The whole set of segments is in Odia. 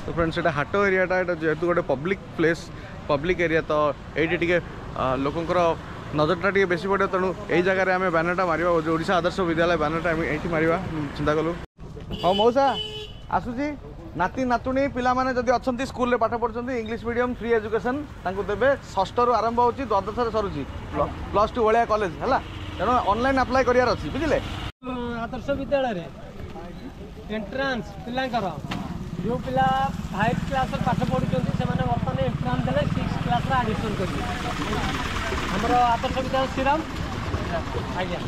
ତ ଫ୍ରେଣ୍ଡସ୍, ଏଇଟା ହାଟ ଏରିଆଟା। ଏଇଟା ଯେହେତୁ ଗୋଟେ ପବ୍ଲିକ୍ ପ୍ଲେସ୍, ପବ୍ଲିକ୍ ଏରିଆ, ତ ଏଇଠି ଟିକେ ଲୋକଙ୍କର ନଜରଟା ଟିକେ ବେଶୀ ପଡ଼ିବ। ତେଣୁ ଏଇ ଜାଗାରେ ଆମେ ବ୍ୟାନରଟା ମାରିବା। ଯେଉଁ ଓଡ଼ିଶା ଆଦର୍ଶ ବିଦ୍ୟାଳୟ ବ୍ୟାନରଟା ଆମେ ଏଇଠି ମାରିବା ଚିନ୍ତା କଲୁ। ହଉ ମଉସା, ଆସୁଛି। ନାତି ନାତୁଣୀ ପିଲାମାନେ ଯଦି ଅଛନ୍ତି, ସ୍କୁଲରେ ପାଠ ପଢ଼ୁଛନ୍ତି, ଇଂଲିଶ ମିଡ଼ିୟମ୍ ଫ୍ରି ଏଜୁକେସନ୍ ତାଙ୍କୁ ଦେବେ। ଷଷ୍ଠରୁ ଆରମ୍ଭ ହେଉଛି, ଦ୍ୱାଦଶରେ ସରୁଛି, +2 ଭଳିଆ କଲେଜ ହେଲା। ତେଣୁ ଅନଲାଇନ୍ ଆପ୍ଲାଏ କରିବାର ଅଛି, ବୁଝିଲେ? ଆଦର୍ଶ ବିଦ୍ୟାଳୟରେ ଏଣ୍ଟ୍ରାନ୍ସ ପିଲାଙ୍କର, ଯେଉଁ ପିଲା 5 କ୍ଲାସ୍ରେ ପାଠ ପଢ଼ୁଛନ୍ତି, ସେମାନେ ବର୍ତ୍ତମାନ ଏଣ୍ଟ୍ରାନ୍ସ ଦେଲେ 6 କ୍ଲାସ୍ରେ ଆଡ଼ମିସନ୍ କରିବେ। ଆମର ଆଦର୍ଶ ବିଦ୍ୟାଳୟ ଶ୍ରୀରାମ ଆଜ୍ଞା।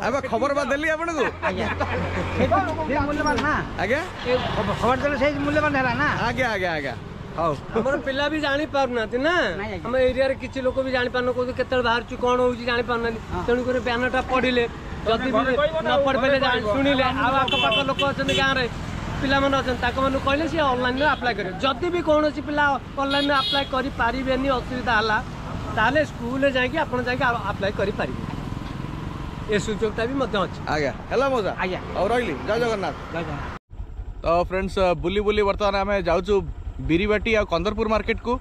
ଏବେ ଖବର ବା ଦେଲି ଆପଣଙ୍କୁ। ଆଜ୍ଞା, ମୂଲ୍ୟବାନ ନା? ଆଜ୍ଞା, ଖବର ଦେଲେ ସେଇ ମୂଲ୍ୟବାନ ହେଲା ନା? ଆଜ୍ଞା, ହଉ। ଆମର ପିଲା ବି ଜାଣିପାରୁନାହାନ୍ତି ନା, ଆମ ଏରିଆରେ କିଛି ଲୋକ ବି ଜାଣିପାରୁନ, କହୁଛନ୍ତି କେତେବେଳେ ବାହାରୁଛି, କ'ଣ ହେଉଛି ଜାଣିପାରୁନାହାନ୍ତି। ତେଣୁକରି ବ୍ୟାନରଟା ପଢ଼ିଲେ, ଯଦି ବି ନ ପଢ଼ିପାରିଲେ ଶୁଣିଲେ, ଆଉ ଆଖପାଖ ଲୋକ ଅଛନ୍ତି, ଗାଁରେ ପିଲାମାନେ ଅଛନ୍ତି, ତାଙ୍କମାନଙ୍କୁ କହିଲେ ସିଏ ଅନଲାଇନରେ ଆପ୍ଲାଏ କରିବେ। ଯଦି ବି କୌଣସି ପିଲା ଅନଲାଇନରେ ଆପ୍ଲାଏ କରିପାରିବେନି, ଅସୁବିଧା ହେଲା, ତାହେଲେ ସ୍କୁଲରେ ଯାଇକି ଆପଣ ଯାଇକି ଆପ୍ଲାଏ କରିପାରିବେ। ଏ ସୁଯୋଗଟା ବି ମଧ୍ୟ ଅଛି। ଆଜ୍ଞା, ହେଲା ମଉସା। ଆଜ୍ଞା। ଆଉ ରହିଲି, ଜୟ ଜଗନ୍ନାଥ। ଜୟ ଜଗନ୍ନାଥ। ତ ଫ୍ରେଣ୍ଡସ୍, ବୁଲି ବୁଲି ବର୍ତ୍ତମାନ ଆମେ ଯାଉଛୁ ବିରିବାଟି ଆଉ କନ୍ଦରପୁର ମାର୍କେଟକୁ।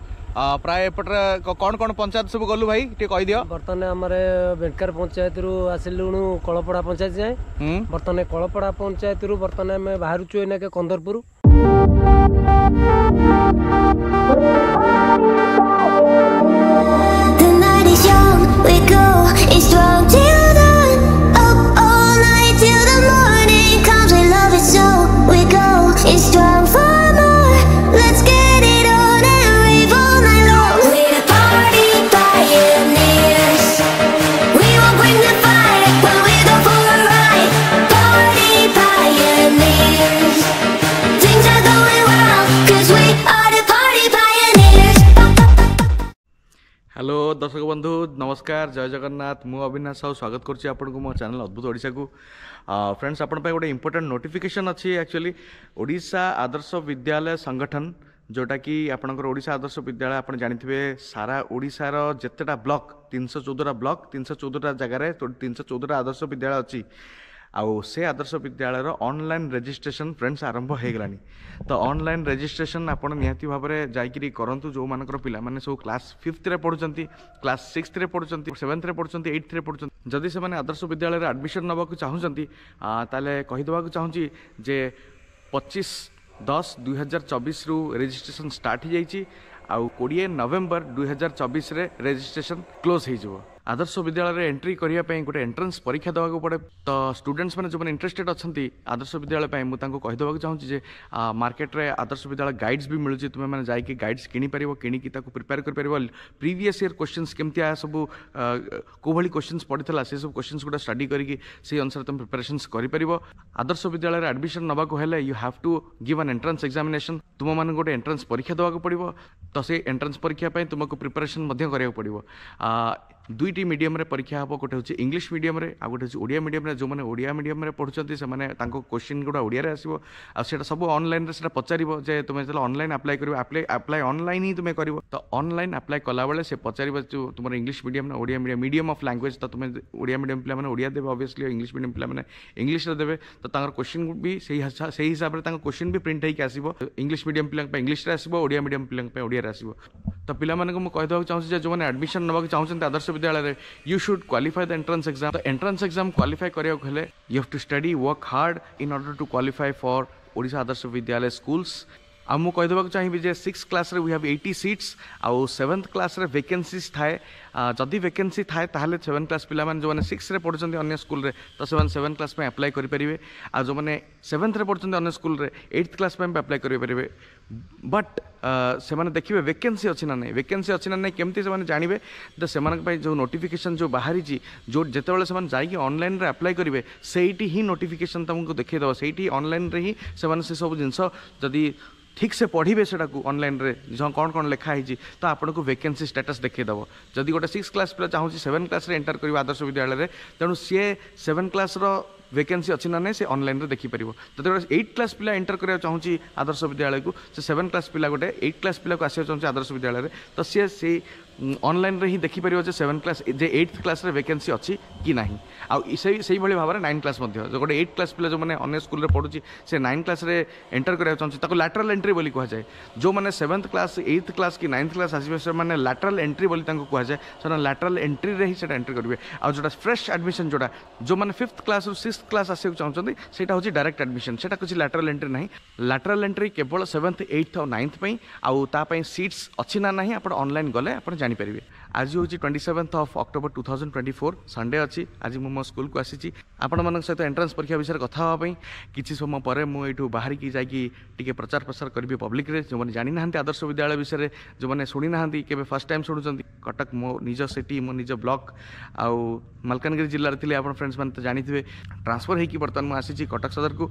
ପ୍ରାୟ ଏପଟରେ କ'ଣ କ'ଣ ପଞ୍ଚାୟତ ସବୁ ଗଲୁ ଭାଇ, ଟିକେ କହିଦିଅ। ବର୍ତ୍ତମାନ ଆମର ବେଙ୍କାର ପଞ୍ଚାୟତରୁ ଆସିଲୁଣୁ କଳପଡ଼ା ପଞ୍ଚାୟତ ଯାଏଁ। ବର୍ତ୍ତମାନ କଳପଡ଼ା ପଞ୍ଚାୟତରୁ ବର୍ତ୍ତମାନ ଆମେ ବାହାରୁଛୁ ଏଇନାକେ Kandarpur. The night is young, we go strong till dawn. Up all night till the morning comes. We love it so, we go strong for more. Let's get it on and rave all night long. We're the party pioneers. We will bring the fire when we go for a ride. Party pioneers. Things are going well, 'cause we are the party pioneers. Hello ଦର୍ଶକ ବନ୍ଧୁ, ନମସ୍କାର, ଜୟ ଜଗନ୍ନାଥ। ମୁଁ ଅବିନାଶ ସାହୁ ସ୍ୱାଗତ କରୁଛି ଆପଣଙ୍କୁ ମୋ ଚ୍ୟାନେଲ୍ ଅଦ୍ଭୁତ ଓଡ଼ିଶାକୁ। ଫ୍ରେଣ୍ଡସ୍, ଆପଣଙ୍କ ପାଇଁ ଗୋଟେ ଇମ୍ପୋର୍ଟାଣ୍ଟ ନୋଟିଫିକେସନ୍ ଅଛି। ଆକ୍ଚୁଆଲି ଓଡ଼ିଶା ଆଦର୍ଶ ବିଦ୍ୟାଳୟ ସଂଗଠନ, ଯେଉଁଟାକି ଆପଣଙ୍କର ଓଡ଼ିଶା ଆଦର୍ଶ ବିଦ୍ୟାଳୟ, ଆପଣ ଜାଣିଥିବେ ସାରା ଓଡ଼ିଶାର ଯେତେଟା ବ୍ଲକ୍, 314ଟା ବ୍ଲକ୍, 314ଟା ଜାଗାରେ 314ଟା ଆଦର୍ଶ ବିଦ୍ୟାଳୟ ଅଛି। ଆଉ ସେ ଆଦର୍ଶ ବିଦ୍ୟାଳୟର ଅନଲାଇନ୍ ରେଜିଷ୍ଟ୍ରେସନ୍ ଫ୍ରେଣ୍ଡସ୍ ଆରମ୍ଭ ହେଇଗଲାଣି। ତ ଅନଲାଇନ୍ ରେଜିଷ୍ଟ୍ରେସନ୍ ଆପଣ ନିହାତି ଭାବରେ ଯାଇକିରି କରନ୍ତୁ। ଯେଉଁମାନଙ୍କର ପିଲାମାନେ ସବୁ କ୍ଲାସ୍ 5ରେ ପଢ଼ୁଛନ୍ତି, କ୍ଲାସ୍ 6ରେ ପଢ଼ୁଛନ୍ତି, 7ରେ ପଢ଼ୁଛନ୍ତି, 8ରେ ପଢ଼ୁଛନ୍ତି, ଯଦି ସେମାନେ ଆଦର୍ଶ ବିଦ୍ୟାଳୟରେ ଆଡ଼ମିସନ୍ ନେବାକୁ ଚାହୁଁଛନ୍ତି, ତାହେଲେ କହିଦେବାକୁ ଚାହୁଁଛି ଯେ 25/10/2024ରୁ ରେଜିଷ୍ଟ୍ରେସନ୍ ଷ୍ଟାର୍ଟ ହେଇଯାଇଛି ଆଉ 20 ନଭେମ୍ବର 2024ରେ ରେଜିଷ୍ଟ୍ରେସନ୍ କ୍ଲୋଜ୍ ହେଇଯିବ। ଆଦର୍ଶ ବିଦ୍ୟାଳୟରେ ଏଣ୍ଟ୍ରି କରିବା ପାଇଁ ଗୋଟେ ଏଣ୍ଟ୍ରାନ୍ସ ପରୀକ୍ଷା ଦେବାକୁ ପଡ଼େ। ତ ଷ୍ଟୁଡେଣ୍ଟସ୍ ମାନେ ଯେଉଁମାନେ ଇଣ୍ଟରେଷ୍ଟେଡ୍ ଅଛନ୍ତି ଆଦର୍ଶ ବିଦ୍ୟାଳୟ ପାଇଁ, ମୁଁ ତାଙ୍କୁ କହିଦେବାକୁ ଚାହୁଁଛି ଯେ ମାର୍କେଟରେ ଆଦର୍ଶ ବିଦ୍ୟାଳୟ ଗାଇଡ୍ସ ବି ମିଳୁଛି। ତୁମେମାନେ ଯାଇକି ଗାଇଡ୍ସ କିଣିପାରିବ, କିଣିକି ତାକୁ ପ୍ରିପେୟାର କରିପାରିବ। ପ୍ରିଭିୟସ୍ ଇୟର୍ କ୍ୱେଶ୍ଚିନ୍ସ କେମିତିଆ ସବୁ, କେଉଁଭଳି କ୍ୱେଶ୍ଚିନ୍ସ ପଡ଼ିଥିଲା, ସେସବୁ କ୍ୱେଶ୍ଚିନ୍ସ ଗୁଡ଼ା ଷ୍ଟଡି କରିକି ସେଇ ଅନୁସାରେ ତୁମେ ପ୍ରିପାରେସନ୍ସ କରିପାରିବ। ଆଦର୍ଶ ବିଦ୍ୟାଳୟରେ ଆଡ଼ମିସନ୍ ନେବାକୁ ହେଲେ you have to give an entrance examination. ତୁମମାନଙ୍କୁ ଗୋଟେ ଏଣ୍ଟ୍ରାନ୍ସ ପରୀକ୍ଷା ଦେବାକୁ ପଡ଼ିବ। ତ ସେଇ ଏଣ୍ଟ୍ରାନ୍ସ ପରୀକ୍ଷା ପାଇଁ ତୁମକୁ ପ୍ରିପାରେସନ୍ ମଧ୍ୟ କରିବାକୁ ପଡ଼ିବ। ଦୁଇଟି ମିଡ଼ିୟମରେ ପରୀକ୍ଷା ହେବ। ଗୋଟେ ହେଉଛି ଇଂଲିଶ ମିଡ଼ିୟମରେ ଆଉ ଗୋଟେ ହେଉଛି ଓଡ଼ିଆ ମିଡ଼ିୟମରେ। ଯେଉଁମାନେ ଓଡ଼ିଆ ମିଡ଼ିୟମରେ ପଢ଼ୁଛନ୍ତି, ସେମାନେ ତାଙ୍କ କୋଶ୍ଚିନ୍ ଗୁଡ଼ା ଓଡ଼ିଆରେ ଆସିବ ଆଉ ସେଇଟା ସବୁ ଅନଲାଇନ୍ରେ ସେଇଟା ପଚାରିବ ଯେ ତୁମେ ଯେତେବେଳେ ଅନଲାଇନ୍ ଆପ୍ଲାଏ କରିବ, ଆପ୍ଲାଏ ଅନଲାଇନ୍ ହିଁ ତୁମେ କରିବ। ତ ଅନଲାଇନ୍ ଆପ୍ଲାଏ କଲାବେଳେ ସେ ପଚାରିବ ଯେଉଁ ତୁମର ଇଂଲିଶ ମିଡ଼ିୟମ୍ ନା Odia medium, medium of language. ତ ତୁମେ ଓଡ଼ିଆ ମିଡ଼ିୟମ୍ ପିଲାମାନେ ଓଡ଼ିଆ ଦେବେ ଅବଭିୟସଲି, ଇଂଲିଶ ମିଡ଼ିୟମ୍ ପିଲାମାନେ ଇଂଲିଶରେ ଦେବେ। ତ ତାଙ୍କର କୋଶ୍ଚିନ୍ ବି ସେଇ ହିସାବରେ ତାଙ୍କ କୋଶ୍ଚିନ୍ ବି ପ୍ରିଣ୍ଟ ହେଇକି ଆସିବ। ଇଂଲିଶ ମିଡ଼ିୟମ୍ ପିଲାଙ୍କ ପାଇଁ ଇଂଲିଶରେ ଆସିବ, ଓଡ଼ିଆ ମିଡ଼ିୟମ୍ ପିଲାଙ୍କ ପାଇଁ ଓଡ଼ିଆରେ ଆସିବ। ତ ପିଲାମାନଙ୍କୁ ମୁଁ କହିଦେବାକୁ ଚାହୁଁଛି ଯେ ଯେଉଁମାନେ ଆଡ଼ମିସନ୍ ନେବାକୁ ଚାହୁଁଛନ୍ତି ଆଦର୍ଶ ବିଦ୍ୟାଳୟରେ, you should qualify the entrance exam. ତ ଏଣ୍ଟ୍ରାନ୍ସ ଏକ୍ଜାମ୍ କ୍ୱାଲିଫାଏ କରିବାକୁ ହେଲେ you have to study, work hard in order to qualify for Odisha Adarsha Vidyalaya schools. ଆଉ ମୁଁ କହିଦେବାକୁ ଚାହିଁବି ଯେ 6 କ୍ଲାସ୍ରେ we have 80 seats ଆଉ 7th କ୍ଲାସ୍ରେ ଭେକେନ୍ସିଜ୍ ଥାଏ। ଯଦି ଭେକେନ୍ସି ଥାଏ, ତାହେଲେ 7 କ୍ଲାସ୍ ପିଲାମାନେ ଯେଉଁମାନେ 6ରେ ପଢ଼ୁଛନ୍ତି ଅନ୍ୟ ସ୍କୁଲରେ, ତ ସେମାନେ 7 କ୍ଲାସ୍ ପାଇଁ ଆପ୍ଲାଏ କରିପାରିବେ। ଆଉ ଯେଉଁମାନେ 7thରେ ପଢ଼ୁଛନ୍ତି ଅନ୍ୟ ସ୍କୁଲରେ, 8th class ପାଇଁ ବି ଆପ୍ଲାଏ କରିପାରିବେ। ବଟ୍ ସେମାନେ ଦେଖିବେ ଭେକେନ୍ସି ଅଛି ନା ନାହିଁ। ଭେକେନ୍ସି ଅଛି ନା ନାହିଁ କେମିତି ସେମାନେ ଜାଣିବେ? ତ ସେମାନଙ୍କ ପାଇଁ ଯେଉଁ ନୋଟିଫିକେସନ୍ ଯେଉଁ ବାହାରିଛି, ଯେଉଁ ଯେତେବେଳେ ସେମାନେ ଯାଇକି ଅନଲାଇନ୍ରେ ଆପ୍ଲାଏ କରିବେ, ସେଇଠି ହିଁ ନୋଟିଫିକେସନ୍ ତୁମକୁ ଦେଖେଇଦେବ। ସେଇଠି ଅନଲାଇନ୍ରେ ହିଁ ସେମାନେ ସେସବୁ ଜିନିଷ ଯଦି ଠିକ୍ ସେ ପଢ଼ିବେ ସେଟାକୁ ଅନଲାଇନ୍ରେ କ'ଣ କ'ଣ ଲେଖା ହେଇଛି, ତ ଆପଣଙ୍କୁ ଭେକେନ୍ସି ଷ୍ଟାଟସ୍ ଦେଖେଇଦେବ। ଯଦି ଗୋଟେ 6 କ୍ଲାସ୍ ପିଲା ଚାହୁଁଛି 7 କ୍ଲାସ୍ରେ ଏଣ୍ଟର କରିବ ଆଦର୍ଶ ବିଦ୍ୟାଳୟରେ, ତେଣୁ ସିଏ 7 କ୍ଲାସ୍ର ଭେକେନ୍ସି ଅଛି ନା ନାହିଁ ସେ ଅନଲାଇନ୍ରେ ଦେଖିପାରିବ। ଯଦି ଗୋଟେ 8 କ୍ଲାସ୍ ପିଲା ଏଣ୍ଟର କରିବାକୁ ଚାହୁଁଛି ଆଦର୍ଶ ବିଦ୍ୟାଳୟକୁ, ସେ 7 କ୍ଲାସ୍ ପିଲା ଗୋଟେ 8 କ୍ଲାସ୍ ପିଲାକୁ ଆସିବାକୁ ଚାହୁଁଛି ଆଦର୍ଶ ବିଦ୍ୟାଳୟରେ, ତ ସିଏ ସେଇ ଅନଲାଇନ୍ରେ ହିଁ ଦେଖିପାରିବ ଯେ ସେଭେନ୍ କ୍ଲାସ୍ ଯେ ଏଇଟ୍ କ୍ଲାସ୍ରେ ଭେକେନ୍ସି ଅଛି କି ନାହିଁ। ଆଉ ସେଇଭଳି ଭାବରେ ନାଇନ୍ କ୍ଲାସ୍ ମଧ୍ୟ, ଗୋଟେ ଏଇଟ୍ କ୍ଲାସ୍ ପିଲା ଯେଉଁମାନେ ଅନ୍ୟ ସ୍କୁଲରେ ପଢ଼ୁଛି, ସେ ନାଇନ୍ କ୍ଲାସ୍ରେ ଏଣ୍ଟର କରିବାକୁ ଚାହୁଁଛି, ତାକୁ ଲାଟରାଲ୍ ଏଣ୍ଟ୍ରି ବୋଲି କୁହାଯାଏ। ଯେଉଁମାନେ ସେଭେନ୍ଥ କ୍ଲାସ୍, ଏଇଥ୍ କ୍ଲାସ୍ କି ନାଇନ୍ଥ କ୍ଲାସ୍ ଆସିବେ, ସେମାନେ ଲାଟରାଲ୍ ଏଣ୍ଟ୍ରି ବୋଲି ତାଙ୍କୁ କୁହାଯାଏ। ସେମାନେ ଲାଟରାଲ୍ ଏଣ୍ଟ୍ରିରେ ହିଁ ସେଇଟା ଏଣ୍ଟ୍ରି କରିବେ। ଆଉ ଯେଉଁଟା ଫ୍ରେଶ୍ ଆଡ଼ମିସନ୍, ଯେଉଁଟା ଯେଉଁମାନେ ଫିଫ୍ଥ କ୍ଲାସ୍ରୁ ସିକ୍ସ କ୍ଲାସ୍ ଆସିବାକୁ ଚାହୁଁଛନ୍ତି, ସେଇଟା ହେଉଛି ଡାଇରେକ୍ଟ ଆଡ଼ମିସନ୍। ସେଇଟା କିଛି ଲାଟରାଲ୍ ଏଣ୍ଟ୍ରି ନାହିଁ। ଲାଟରାଲ୍ ଏଣ୍ଟ୍ରି କେବଳ ସେଭେନ୍ଥ, ଏଇଥ୍ ଆଉ ନାଇନ୍ଥ ପାଇଁ। ଆଉ ତା ପାଇଁ ସିଟ୍ସ ଅଛି ନା ନାହିଁ, ଆପଣ ଅନଲାଇନ୍ ଗଲେ ଆପଣ ଜାଣିପାରିବେ। ଆଜି ହେଉଛି 27th of October 2024, Sunday ଅଛି। ଆଜି ମୁଁ ମୋ ସ୍କୁଲକୁ ଆସିଛି ଆପଣମାନଙ୍କ ସହିତ ଏଣ୍ଟ୍ରାନ୍ସ ପରୀକ୍ଷା ବିଷୟରେ କଥା ହେବା ପାଇଁ। କିଛି ସମୟ ପରେ ମୁଁ ଏଇଠୁ ବାହାରିକି ଯାଇକି ଟିକେ ପ୍ରଚାର ପ୍ରସାର କରିବି ପବ୍ଲିକରେ। ଯେଉଁମାନେ ଜାଣିନାହାନ୍ତି ଆଦର୍ଶ ବିଦ୍ୟାଳୟ ବିଷୟରେ, ଯେଉଁମାନେ ଶୁଣିନାହାନ୍ତି, କେବେ ଫାର୍ଷ୍ଟ ଟାଇମ୍ ଶୁଣୁଛନ୍ତି, କଟକ ମୋ ନିଜ ସିଟି, ମୋ ନିଜ ବ୍ଲକ ଆଉ ମାଲକାନଗିରି ଜିଲ୍ଲାରେ ଥିଲେ ଆପଣ ଫ୍ରେଣ୍ଡସ୍ ମାନେ ତ ଜାଣିଥିବେ। ଟ୍ରାନ୍ସଫର୍ ହେଇକି ବର୍ତ୍ତମାନ ମୁଁ ଆସିଛି କଟକ ସଦରକୁ।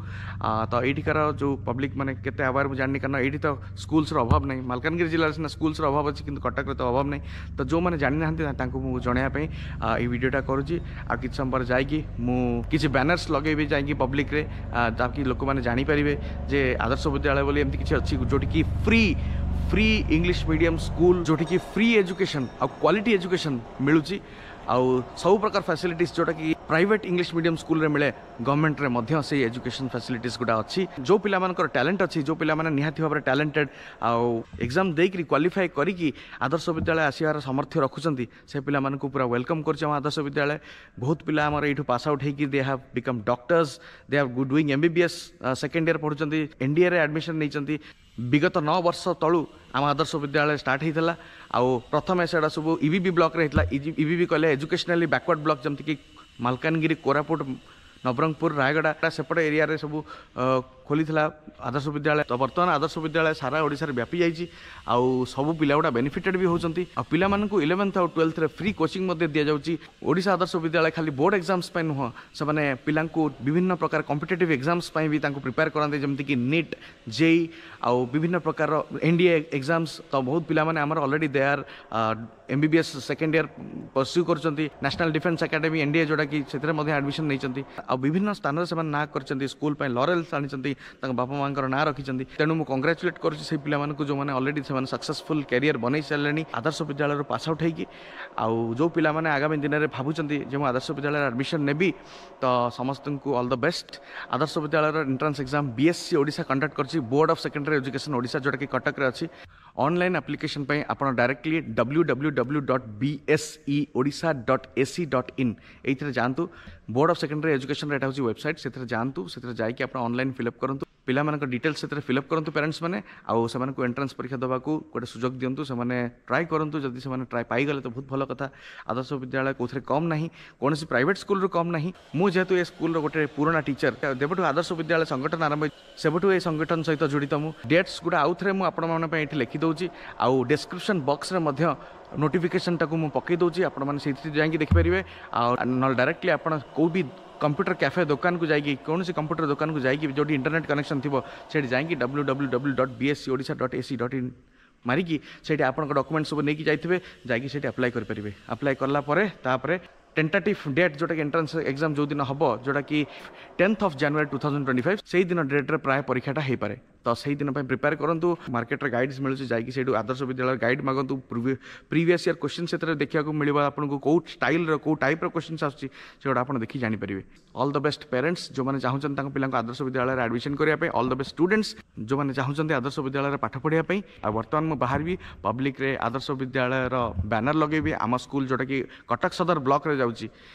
ତ ଏଇଠିକାର ଯେଉଁ ପବ୍ଲିକ୍ ମାନେ କେତେ ଆୱାର ମୁଁ ଜାଣିନି, କାରଣ ଏଇଠି ତ ସ୍କୁଲ୍ସର ଅଭାବ ନାହିଁ। ମାଲକାନଗିରି ଜିଲ୍ଲାରେ ସିନା ସ୍କୁଲ୍ସର ଅଭାବ ଅଛି, କିନ୍ତୁ କଟକରେ ତ ଅଭାବ ନାହିଁ। ତ ଯେଉଁମାନେ ଜାଣିନାହାନ୍ତି, ତାଙ୍କୁ ମୁଁ ଜଣାଇବା ପାଇଁ ଏଇ ଭିଡ଼ିଓଟା କରୁଛି। ଆଉ କିଛି ସମୟ ପରେ ଯାଇକି ମୁଁ କିଛି ବ୍ୟାନର୍ସ ଲଗେଇବି ଯାଇକି ପବ୍ଲିକରେ, ତାକି ଲୋକମାନେ ଜାଣିପାରିବେ ଯେ ଆଦର୍ଶ ବିଦ୍ୟାଳୟ ବୋଲି ଏମିତି କିଛି ଅଛି, ଯେଉଁଠିକି free English medium school, ଯେଉଁଠିକି ଫ୍ରି ଏଜୁକେସନ୍ ଆଉ କ୍ୱାଲିଟି ଏଜୁକେସନ୍ ମିଳୁଛି। ଆଉ ସବୁ ପ୍ରକାର ଫ୍ୟାସିଲିଟିସ୍ ଯେଉଁଟାକି ପ୍ରାଇଭେଟ୍ ଇଂଲିଶ ମିଡ଼ିୟମ୍ ସ୍କୁଲରେ ମିଳେ, ଗଭର୍ଣ୍ଣମେଣ୍ଟରେ ମଧ୍ୟ ସେଇ ଏଜୁକେସନ୍ ଫ୍ୟାସିଲିଟିସ୍ ଗୁଡ଼ା ଅଛି। ଯେଉଁ ପିଲାମାନଙ୍କର ଟ୍ୟାଲେଣ୍ଟ ଅଛି, ଯେଉଁ ପିଲାମାନେ ନିହାତି ଭାବରେ ଟ୍ୟାଲେଣ୍ଟେଡ୍ ଆଉ ଏକ୍ଜାମ୍ ଦେଇକରି କ୍ୱାଲିଫାଏ କରିକି ଆଦର୍ଶ ବିଦ୍ୟାଳୟ ଆସିବାର ସାମର୍ଥ୍ୟ ରଖୁଛନ୍ତି, ସେ ପିଲାମାନଙ୍କୁ ପୁରା welcome କରୁଛି ଆମ ଆଦର୍ଶ ବିଦ୍ୟାଳୟ। ବହୁତ ପିଲା ଆମର ଏଇଠୁ ପାସ୍ ଆଉଟ୍ ହେଇକି they have become doctors, they have doing MBBS second year ପଢ଼ୁଛନ୍ତି, ଏନ୍ଡିଏରେ ଆଡ଼ମିସନ୍ ନେଇଛନ୍ତି। ବିଗତ 9 ବର୍ଷ ତଳୁ ଆମ ଆଦର୍ଶ ବିଦ୍ୟାଳୟ ଷ୍ଟାର୍ଟ ହେଇଥିଲା। ଆଉ ପ୍ରଥମେ ସେଇଟା ସବୁ ଇବିବି ବ୍ଲକରେ ହେଇଥିଲା। ଇବିବି କହିଲେ ଏଜୁକେସନାଲି ବ୍ୟାକୱାର୍ଡ଼ ବ୍ଲକ, ଯେମିତିକି ମାଲକାନଗିରି, କୋରାପୁଟ, ନବରଙ୍ଗପୁର, ରାୟଗଡ଼ା, ସେପଟେ ଏରିଆରେ ସବୁ ଖୋଲିଥିଲା ଆଦର୍ଶ ବିଦ୍ୟାଳୟ। ତ ବର୍ତ୍ତମାନ ଆଦର୍ଶ ବିଦ୍ୟାଳୟ ସାରା ଓଡ଼ିଶାରେ ବ୍ୟାପି ଯାଇଛି ଆଉ ସବୁ ପିଲା ଗୁଡ଼ା ବେନିଫିଟେଡ୍ ବି ହେଉଛନ୍ତି। ଆଉ ପିଲାମାନଙ୍କୁ ଇଲେଭେନ୍ଥ ଆଉ ଟୁଏଲ୍ଥରେ ଫ୍ରି କୋଚିଂ ମଧ୍ୟ ଦିଆଯାଉଛି। ଓଡ଼ିଶା ଆଦର୍ଶ ବିଦ୍ୟାଳୟ ଖାଲି ବୋର୍ଡ଼ ଏକ୍ଜାମ୍ସ ପାଇଁ ନୁହଁ, ସେମାନେ ପିଲାଙ୍କୁ ବିଭିନ୍ନ ପ୍ରକାର କମ୍ପିଟେଟିଭ୍ ଏକ୍ଜାମ୍ସ ପାଇଁ ବି ତାଙ୍କୁ ପ୍ରିପେୟାର କରାନ୍ତି, ଯେମିତିକି ନିଟ୍, ଜେଇ ଆଉ ବିଭିନ୍ନ ପ୍ରକାରର ଏନ୍ଡିଏ ଏକ୍ଜାମ୍ସ। ତ ବହୁତ ପିଲାମାନେ ଆମର already they are MBBS second year pursue କରୁଛନ୍ତି। ନ୍ୟାସନାଲ୍ ଡିଫେନ୍ସ ଏକାଡେମୀ, ଏନ୍ଡିଏ ଯେଉଁଟାକି, ସେଥିରେ ମଧ୍ୟ ଆଡ଼ମିସନ୍ ନେଇଛନ୍ତି। ଆଉ ବିଭିନ୍ନ ସ୍ଥାନରେ ସେମାନେ ନାଁ କରିଛନ୍ତି, ସ୍କୁଲ ପାଇଁ ଲରେଲ୍ସ ଆଣିଛନ୍ତି, ତାଙ୍କ ବାପା ମାଆଙ୍କର ନାଁ ରଖିଛନ୍ତି। ତେଣୁ ମୁଁ କଂଗ୍ରାଚୁଲେଟ୍ କରୁଛି ସେଇ ପିଲାମାନଙ୍କୁ, ଯେଉଁମାନେ ଅଲରେଡ଼ି ସେମାନେ ସକ୍ସେସଫୁଲ୍ କ୍ୟାରିୟର ବନେଇ ସାରିଲେଣି ଆଦର୍ଶ ବିଦ୍ୟାଳୟରୁ ପାସ୍ ଆଉଟ୍ ହେଇକି। ଆଉ ଯେଉଁ ପିଲାମାନେ ଆଗାମୀ ଦିନରେ ଭାବୁଛନ୍ତି ଯେ ମୁଁ ଆଦର୍ଶ ବିଦ୍ୟାଳୟରେ ଆଡ଼ମିସନ୍ ନେବି, ତ ସମସ୍ତଙ୍କୁ ଅଲ୍ the best. ଆଦର୍ଶ ବିଦ୍ୟାଳୟର entrance exam BSE Odisha conduct କରିଛି, board of secondary education Odisha, ଯେଉଁଟାକି କଟକରେ ଅଛି। ଅନଲାଇନ୍ ଆପ୍ଲିକେସନ୍ ପାଇଁ ଆପଣ directly www.bseodisha.ac.in ଏଇଥିରେ ଯାଆନ୍ତୁ। ବୋର୍ଡ଼ ଅଫ୍ ସେକେଣ୍ଡାରୀ ଏଜୁକେସନ୍ର ଏଇଟା ହେଉଛି ୱେବସାଇଟ୍। ସେଥିରେ ଯାଆନ୍ତୁ, ସେଥିରେ ଯାଇକି ଆପଣ ଅନଲାଇନ୍ ଫିଲ୍ଅପ୍ କରନ୍ତୁ, ପିଲାମାନଙ୍କ ଡିଟେଲ୍ସ ସେଥିରେ ଫିଲ୍ଅପ୍ କରନ୍ତୁ ପ୍ୟାରେଣ୍ଟସ୍ ମାନେ, ଆଉ ସେମାନଙ୍କୁ ଏଣ୍ଟ୍ରାନ୍ସ ପରୀକ୍ଷା ଦେବାକୁ ଗୋଟେ ସୁଯୋଗ ଦିଅନ୍ତୁ। ସେମାନେ ଟ୍ରାଏ କରନ୍ତୁ। ଯଦି ସେମାନେ ଟ୍ରାଏ ପାଇଗଲେ ତ ବହୁତ ଭଲ କଥା। ଆଦର୍ଶ ବିଦ୍ୟାଳୟ କେଉଁଥିରେ କମ୍ ନାହିଁ, କୌଣସି ପ୍ରାଇଭେଟ୍ ସ୍କୁଲରୁ କମ୍ ନାହିଁ। ମୁଁ ଯେହେତୁ ଏ ସ୍କୁଲର ଗୋଟେ ପୁରୁଣା ଟିଚର, ଯେବେଠୁ ଆଦର୍ଶ ବିଦ୍ୟାଳୟ ସଂଗଠନ ଆରମ୍ଭ ହେଇଛି, ସେବେଠୁ ଏ ସଂଗଠନ ସହିତ ଜଡ଼ିତ ମୁଁ। ଡେଟ୍ସ ଗୁଡ଼ା ଆଉଥରେ ମୁଁ ଆପଣମାନଙ୍କ ପାଇଁ ଏଠି ଲେଖିଦେଉଛି ଆଉ ଡେସ୍କ୍ରିପସନ୍ ବକ୍ସରେ ମଧ୍ୟ ନୋଟିଫିକେସନ୍ଟାକୁ ମୁଁ ପକାଇ ଦେଉଛି। ଆପଣମାନେ ସେଇଥିରେ ଯାଇକି ଦେଖିପାରିବେ। ଆଉ ନହେଲେ ଡାଇରେକ୍ଟଲି ଆପଣ କେଉଁ ବି କମ୍ପ୍ୟୁଟର କ୍ୟାଫେ ଦୋକାନକୁ ଯାଇକି, କୌଣସି କମ୍ପ୍ୟୁଟର ଦୋକାନକୁ ଯାଇକି, ଯେଉଁଠି ଇଣ୍ଟରନେଟ୍ କନେକ୍ସନ୍ ଥିବ, ସେଇଠି ଯାଇକି www.bseodisha.ac.in ମାରିକି ସେଇଠି ଆପଣଙ୍କ ଡକୁମେଣ୍ଟ ସବୁ ନେଇକି ଯାଇଥିବେ, ଯାଇକି ସେଇଠି ଆପ୍ଲାଏ କରିପାରିବେ। ଆପ୍ଲାଏ କଲା ପରେ ତାପରେ ଟେଣ୍ଟାଟିଭ୍ ଡେଟ୍, ଯେଉଁଟାକି ଏଣ୍ଟ୍ରାନ୍ସ ଏକ୍ଜାମ୍ ଯେଉଁଦିନ ହେବ, ଯେଉଁଟାକି 10th of January 2025, ସେଇଦିନ ଡେଟ୍ରେ ପ୍ରାୟ ପରୀକ୍ଷାଟା ହେଇପାରେ। ତ ସେଇଦିନ ପାଇଁ ପ୍ରିପେୟାର କରନ୍ତୁ। ମାର୍କେଟରେ ଗାଇଡ୍ସ ମିଳୁଛି, ଯାଇକି ସେଇଠୁ ଆଦର୍ଶ ବିଦ୍ୟାଳୟ ଗାଇଡ୍ ମାଗନ୍ତୁ। ପ୍ରିଭିୟସ୍ ଇୟର୍ କ୍ୱେଶ୍ଚିନ୍ ସେଥିରେ ଦେଖିବାକୁ ମିଳିବ ଆପଣଙ୍କୁ, କେଉଁ ଷ୍ଟାଇଲ୍ର, କେଉଁ ଟାଇପ୍ର କ୍ୱେଶ୍ଚିନ୍ସ ଆସୁଛି, ସେଗୁଡ଼ା ଆପଣ ଦେଖି ଜାଣିପାରିବେ। ଅଲ୍ the best parents, ଯେଉଁମାନେ ଚାହୁଁଛନ୍ତି ତାଙ୍କ ପିଲାଙ୍କୁ ଆଦର୍ଶ ବିଦ୍ୟାଳୟରେ ଆଡ଼ମିସନ୍ କରିବା ପାଇଁ। ଅଲ୍ the best students, ଯେଉଁମାନେ ଚାହୁଁଛନ୍ତି ଆଦର୍ଶ ବିଦ୍ୟାଳୟରେ ପାଠ ପଢ଼ିବା ପାଇଁ। ଆଉ ବର୍ତ୍ତମାନ ମୁଁ ବାହାରିବି, ପବ୍ଲିକରେ ଆଦର୍ଶ ବିଦ୍ୟାଳୟର ବ୍ୟାନର ଲଗେଇବି। ଆମ ସ୍କୁଲ ଯେଉଁଟାକି କଟକ ସଦର ବ୍ଲକରେ ଯାଉଛି,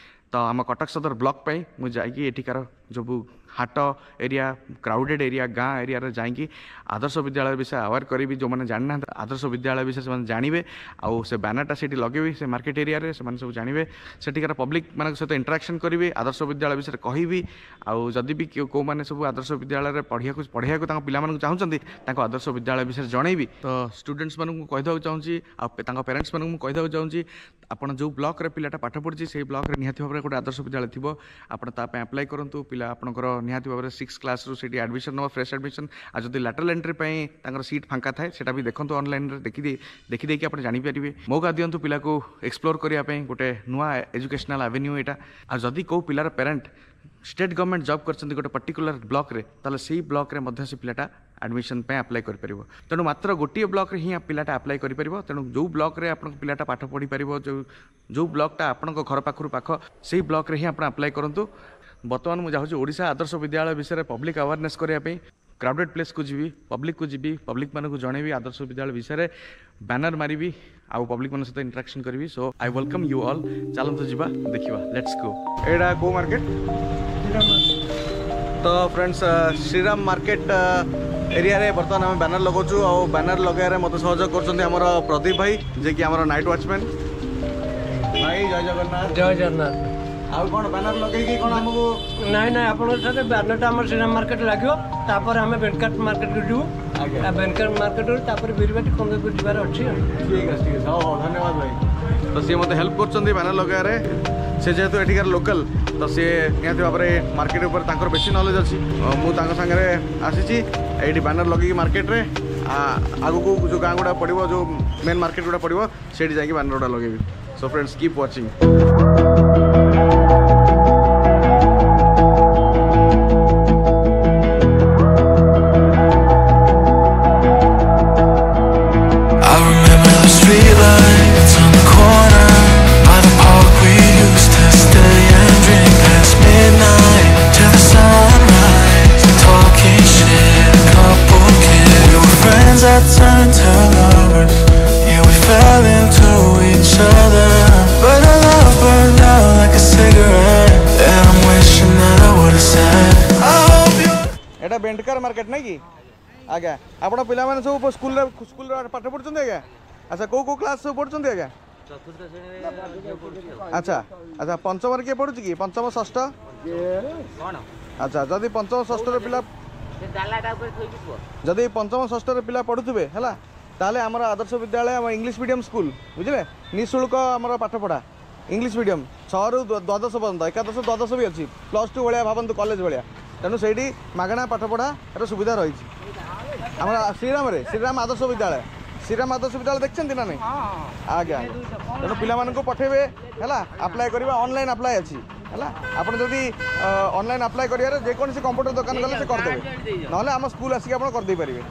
ତ ଆମ କଟକ ସଦର ବ୍ଲକ ପାଇଁ ମୁଁ ଯାଇକି ଏଠିକାର ସବୁ ହାଟ ଏରିଆ, କ୍ରାଉଡେଡ଼ ଏରିଆ, ଗାଁ ଏରିଆରେ ଯାଇକି ଆଦର୍ଶ ବିଦ୍ୟାଳୟ ବିଷୟ ଆୱାର କରିବି। ଯେଉଁମାନେ ଜାଣିନାହାନ୍ତି ଆଦର୍ଶ ବିଦ୍ୟାଳୟ ବିଷୟରେ, ସେମାନେ ଜାଣିବେ। ଆଉ ସେ ବ୍ୟାନରଟା ସେଇଠି ଲଗେଇବି ସେ ମାର୍କେଟ ଏରିଆରେ, ସେମାନେ ସବୁ ଜାଣିବେ। ସେଠିକାର ପବ୍ଲିକ ମାନଙ୍କ ସହିତ ଇଣ୍ଟରାକ୍ସନ୍ କରିବି, ଆଦର୍ଶ ବିଦ୍ୟାଳୟ ବିଷୟରେ କହିବି। ଆଉ ଯଦି ବି କେଉଁମାନେ ସବୁ ଆଦର୍ଶ ବିଦ୍ୟାଳୟରେ ପଢ଼ିବାକୁ ତାଙ୍କ ପିଲାମାନଙ୍କୁ ଚାହୁଁଛନ୍ତି, ତାଙ୍କ ଆଦର୍ଶ ବିଦ୍ୟାଳୟ ବିଷୟରେ ଜଣେଇବି। ତ ଷ୍ଟୁଡେଣ୍ଟସ୍ ମାନଙ୍କୁ କହିଦେବାକୁ ଚାହୁଁଛି ଆଉ ତାଙ୍କ ପ୍ୟାରେଣ୍ଟସ୍ ମାନଙ୍କୁ ମୁଁ କହିଦେବାକୁ ଚାହୁଁଛି, ଆପଣ ଯେଉଁ ବ୍ଲକରେ ପିଲାଟା ପାଠ ପଢ଼ୁଛି, ସେଇ ବ୍ଲକରେ ନିହାତି ଭାବରେ ଗୋଟେ ଆଦର୍ଶ ବିଦ୍ୟାଳୟ ଥିବ। ଆପଣ ତା ପାଇଁ ଆପ୍ଲାଏ କରନ୍ତୁ। ପିଲା ଆପଣଙ୍କର ନିହାତି ଭାବରେ ସିକ୍ସ କ୍ଲାସ୍ରୁ ସେଇଠି ଆଡ଼ମିସନ୍ ନେବ, ଫ୍ରେଶ୍ ଆଡ଼ମିସନ୍। ଆଉ ଯଦି ଲାଟରାଲ୍ ଏଣ୍ଟ୍ରି ପାଇଁ ତାଙ୍କର ସିଟ୍ ଫାଙ୍କା ଥାଏ, ସେଇଟା ବି ଦେଖନ୍ତୁ ଅନଲାଇନ୍ରେ, ଦେଖିଦେଇକି ଆପଣ ଜାଣିପାରିବେ। ମୌକା ଦିଅନ୍ତୁ ପିଲାକୁ ଏକ୍ସପ୍ଲୋର୍ କରିବା ପାଇଁ, ଗୋଟେ ନୂଆ ଏଜୁକେସନାଲ୍ ଆଭେନ୍ୟୁ ଏଇଟା। ଆଉ ଯଦି କେଉଁ ପିଲାର ପ୍ୟାରେଣ୍ଟ ଷ୍ଟେଟ୍ ଗଭର୍ଣ୍ଣମେଣ୍ଟ ଜବ୍ କରିଛନ୍ତି ଗୋଟେ ପର୍ଟିକୁଲାର ବ୍ଲକରେ, ତାହେଲେ ସେଇ ବ୍ଲକରେ ମଧ୍ୟ ସେ ପିଲାଟା ଆଡ଼ମିସନ୍ ପାଇଁ ଆପ୍ଲାଏ କରିପାରିବ। ତେଣୁ ମାତ୍ର ଗୋଟିଏ ବ୍ଲକ୍ରେ ହିଁ ପିଲାଟା ଆପ୍ଲାଏ କରିପାରିବ। ତେଣୁ ଯେଉଁ ବ୍ଲକ୍ରେ ଆପଣଙ୍କ ପିଲାଟା ପାଠ ପଢ଼ିପାରିବ, ଯେଉଁ ଯେଉଁ ବ୍ଲକ୍ଟା ଆପଣଙ୍କ ଘର ପାଖରୁ ପାଖ, ସେଇ ବ୍ଲକ୍ରେ ହିଁ ଆପଣ ଆପ୍ଲାଏ କରନ୍ତୁ। ବର୍ତ୍ତମାନ ମୁଁ ଯାଉଛି ଓଡ଼ିଶା ଆଦର୍ଶ ବିଦ୍ୟାଳୟ ବିଷୟରେ ପବ୍ଲିକ୍ ଆୱାରନେସ୍ କରିବା ପାଇଁ। କ୍ରାଉଡେଡ଼ ପ୍ଲେସ୍କୁ ଯିବି, ପବ୍ଲିକକୁ ଯିବି, ପବ୍ଲିକମାନଙ୍କୁ ଜଣେଇବି ଆଦର୍ଶ ବିଦ୍ୟାଳୟ ବିଷୟରେ, ବ୍ୟାନର ମାରିବି ଆଉ ପବ୍ଲିକମାନଙ୍କ ସହିତ ଇଣ୍ଟରାକ୍ସନ୍ କରିବି। So I welcome you all. ଚାଲନ୍ତୁ ଯିବା, ଦେଖିବା, let's go. ଏଇଟା କେଉଁ ମାର୍କେଟ? ତ ଫ୍ରେଣ୍ଡସ୍, ଶ୍ରୀରାମ ମାର୍କେଟ ଏରିଆରେ ବର୍ତ୍ତମାନ ଆମେ ବ୍ୟାନର ଲଗାଉଛୁ ଆଉ ବ୍ୟାନର ଲଗାଇବାରେ ମୋତେ ସହଯୋଗ କରୁଛନ୍ତି ଆମର ପ୍ରଦୀପ ଭାଇ, ଯିଏକି ଆମର ନାଇଟ୍ ୱାଚମ୍ୟାନ୍। ଭାଇ, ଜୟ ଜଗନ୍ନାଥ। ଜୟ ଜଗନ୍ନାଥ। ଆଉ କ'ଣ ବ୍ୟାନର ଲଗେଇକି କ'ଣ ଆମକୁ? ନାଇଁ ନାଇଁ, ଆପଣଙ୍କ ସାথে ବ୍ୟାନରଟା ଆମର ଶ୍ରୀରାମ ମାର୍କେଟ ଲାଗିବ, ତାପରେ ଆମେ ବେନକାଟ ମାର୍କେଟକୁ ଯିବୁ। ବେନକାଟ ମାର୍କେଟରୁ ତାପରେ ବିରିବାଟି, କନ୍ଦରପୁର ଯିବାର ଅଛି। ଠିକ୍ ଅଛି, ଠିକ୍ ଅଛି, ହଉ ହଉ, ଧନ୍ୟବାଦ ଭାଇ। ତ ସିଏ ମୋତେ ହେଲ୍ପ କରୁଛନ୍ତି ବ୍ୟାନର ଲଗାଇବାରେ। ସେ ଯେହେତୁ ଏଠିକାର ଲୋକାଲ, ତ ସିଏ ନିହାତି ଭାବରେ ମାର୍କେଟ ଉପରେ ତାଙ୍କର ବେଶୀ ନଲେଜ ଅଛି। ମୁଁ ତାଙ୍କ ସାଙ୍ଗରେ ଆସିଛି ଏଇଠି ବ୍ୟାନର ଲଗେଇକି ମାର୍କେଟରେ। ଆଗକୁ ଯେଉଁ ଗାଁ ଗୁଡ଼ା ପଡ଼ିବ, ଯେଉଁ ମେନ୍ ମାର୍କେଟ ଗୁଡ଼ା ପଡ଼ିବ, ସେଇଠି ଯାଇକି ବ୍ୟାନର ଗୁଡ଼ା ଲଗେଇବି। So friends, keep watching. I remember the streetlights on the corner by the park we used to stay and drink past midnight till the sunrise. Talking shit, a couple kids. We were friends that turned to lovers. Yeah, we fell into each other, but our love burned out like a cigarette. And I'm wishing that I would've said, I hope you. ଏଇଟା ବେଣ୍ଡକାର ମାର୍କେଟ ନାଇଁ କି ଆଜ୍ଞା? ଆପଣ ପିଲାମାନେ ସବୁ ସ୍କୁଲରେ ସ୍କୁଲରେ ପାଠ ପଢ଼ୁଛନ୍ତି ଆଜ୍ଞା? ଆଚ୍ଛା, କେଉଁ କେଉଁ କ୍ଲାସ୍ ସବୁ ପଢ଼ୁଛନ୍ତି ଆଜ୍ଞା? ଆଚ୍ଛା ଆଚ୍ଛା, ପଞ୍ଚମରେ କିଏ ପଢ଼ୁଛି କି? ପଞ୍ଚମ, ଷଷ୍ଠ? ଆଚ୍ଛା, ଯଦି ପଞ୍ଚମ ଷଷ୍ଠରେ ପିଲା, ଯଦି ପଞ୍ଚମ ଷଷ୍ଠରେ ପିଲା ପଢ଼ୁଥିବେ ହେଲା, ତାହେଲେ ଆମର ଆଦର୍ଶ ବିଦ୍ୟାଳୟ, ଆମ ଇଂଲିଶ ମିଡ଼ିୟମ୍ ସ୍କୁଲ, ବୁଝିଲେ, ନିଃଶୁଳ୍କ ଆମର ପାଠପଢ଼ା, ଇଂଲିଶ ମିଡ଼ିୟମ୍, 6ରୁ 12 ପର୍ଯ୍ୟନ୍ତ, ଏକାଦଶ ଦ୍ୱାଦଶ ବି ଅଛି, +2 ଭଳିଆ ଭାବନ୍ତୁ, କଲେଜ ଭଳିଆ। ତେଣୁ ସେଇଠି ମାଗଣା ପାଠପଢ଼ାର ସୁବିଧା ରହିଛି ଆମର ଶ୍ରୀରାମରେ, ଶ୍ରୀରାମ ଆଦର୍ଶ ବିଦ୍ୟାଳୟ। ଶ୍ରୀରାମ ଆଦର୍ଶ ବିଦ୍ୟାଳୟ ଦେଖିଛନ୍ତି ନା ନାଇଁ ଆଜ୍ଞା? ତେଣୁ ପିଲାମାନଙ୍କୁ ପଠେଇବେ ହେଲା, ଆପ୍ଲାଏ କରିବା, ଅନଲାଇନ୍ ଆପ୍ଲାଏ ଅଛି ହେଲା। ଆପଣ ଯଦି ଅନଲାଇନ୍ ଆପ୍ଲାଏ କରିବାରେ ଯେକୌଣସି କମ୍ପ୍ୟୁଟର ଦୋକାନ ଗଲେ ସେ କରିଦେବେ, ନହେଲେ ଆମ ସ୍କୁଲ ଆସିକି ଆପଣ କରିଦେଇପାରିବେ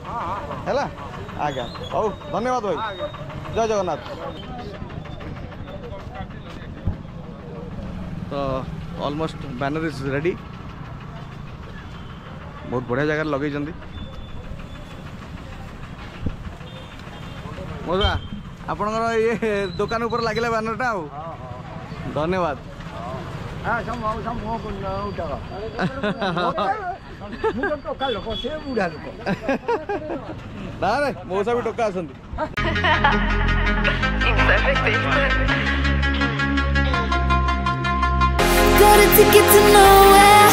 ହେଲା ଆଜ୍ଞା। ହଉ, ଧନ୍ୟବାଦ ଭାଇ, ଜୟ ଜଗନ୍ନାଥ। ତ ଅଲମୋଷ୍ଟ ବ୍ୟାନର is ready. ବହୁତ ବଢ଼ିଆ ଜାଗାରେ ଲଗେଇଛନ୍ତି। ମଉସା, ଆପଣଙ୍କର ଇଏ ଦୋକାନ ଉପରେ ଲାଗିଲା ବ୍ୟାନରଟା, ଆଉ ଧନ୍ୟବାଦ। ମୁଁ ତ ଟୋକା ଲୋକ, ସେ ବୁଢ଼ା ଲୋକ। ନା ନାଇଁ, ମଉସା ବି ଟୋକା ଅଛନ୍ତି। Got a ticket to nowhere.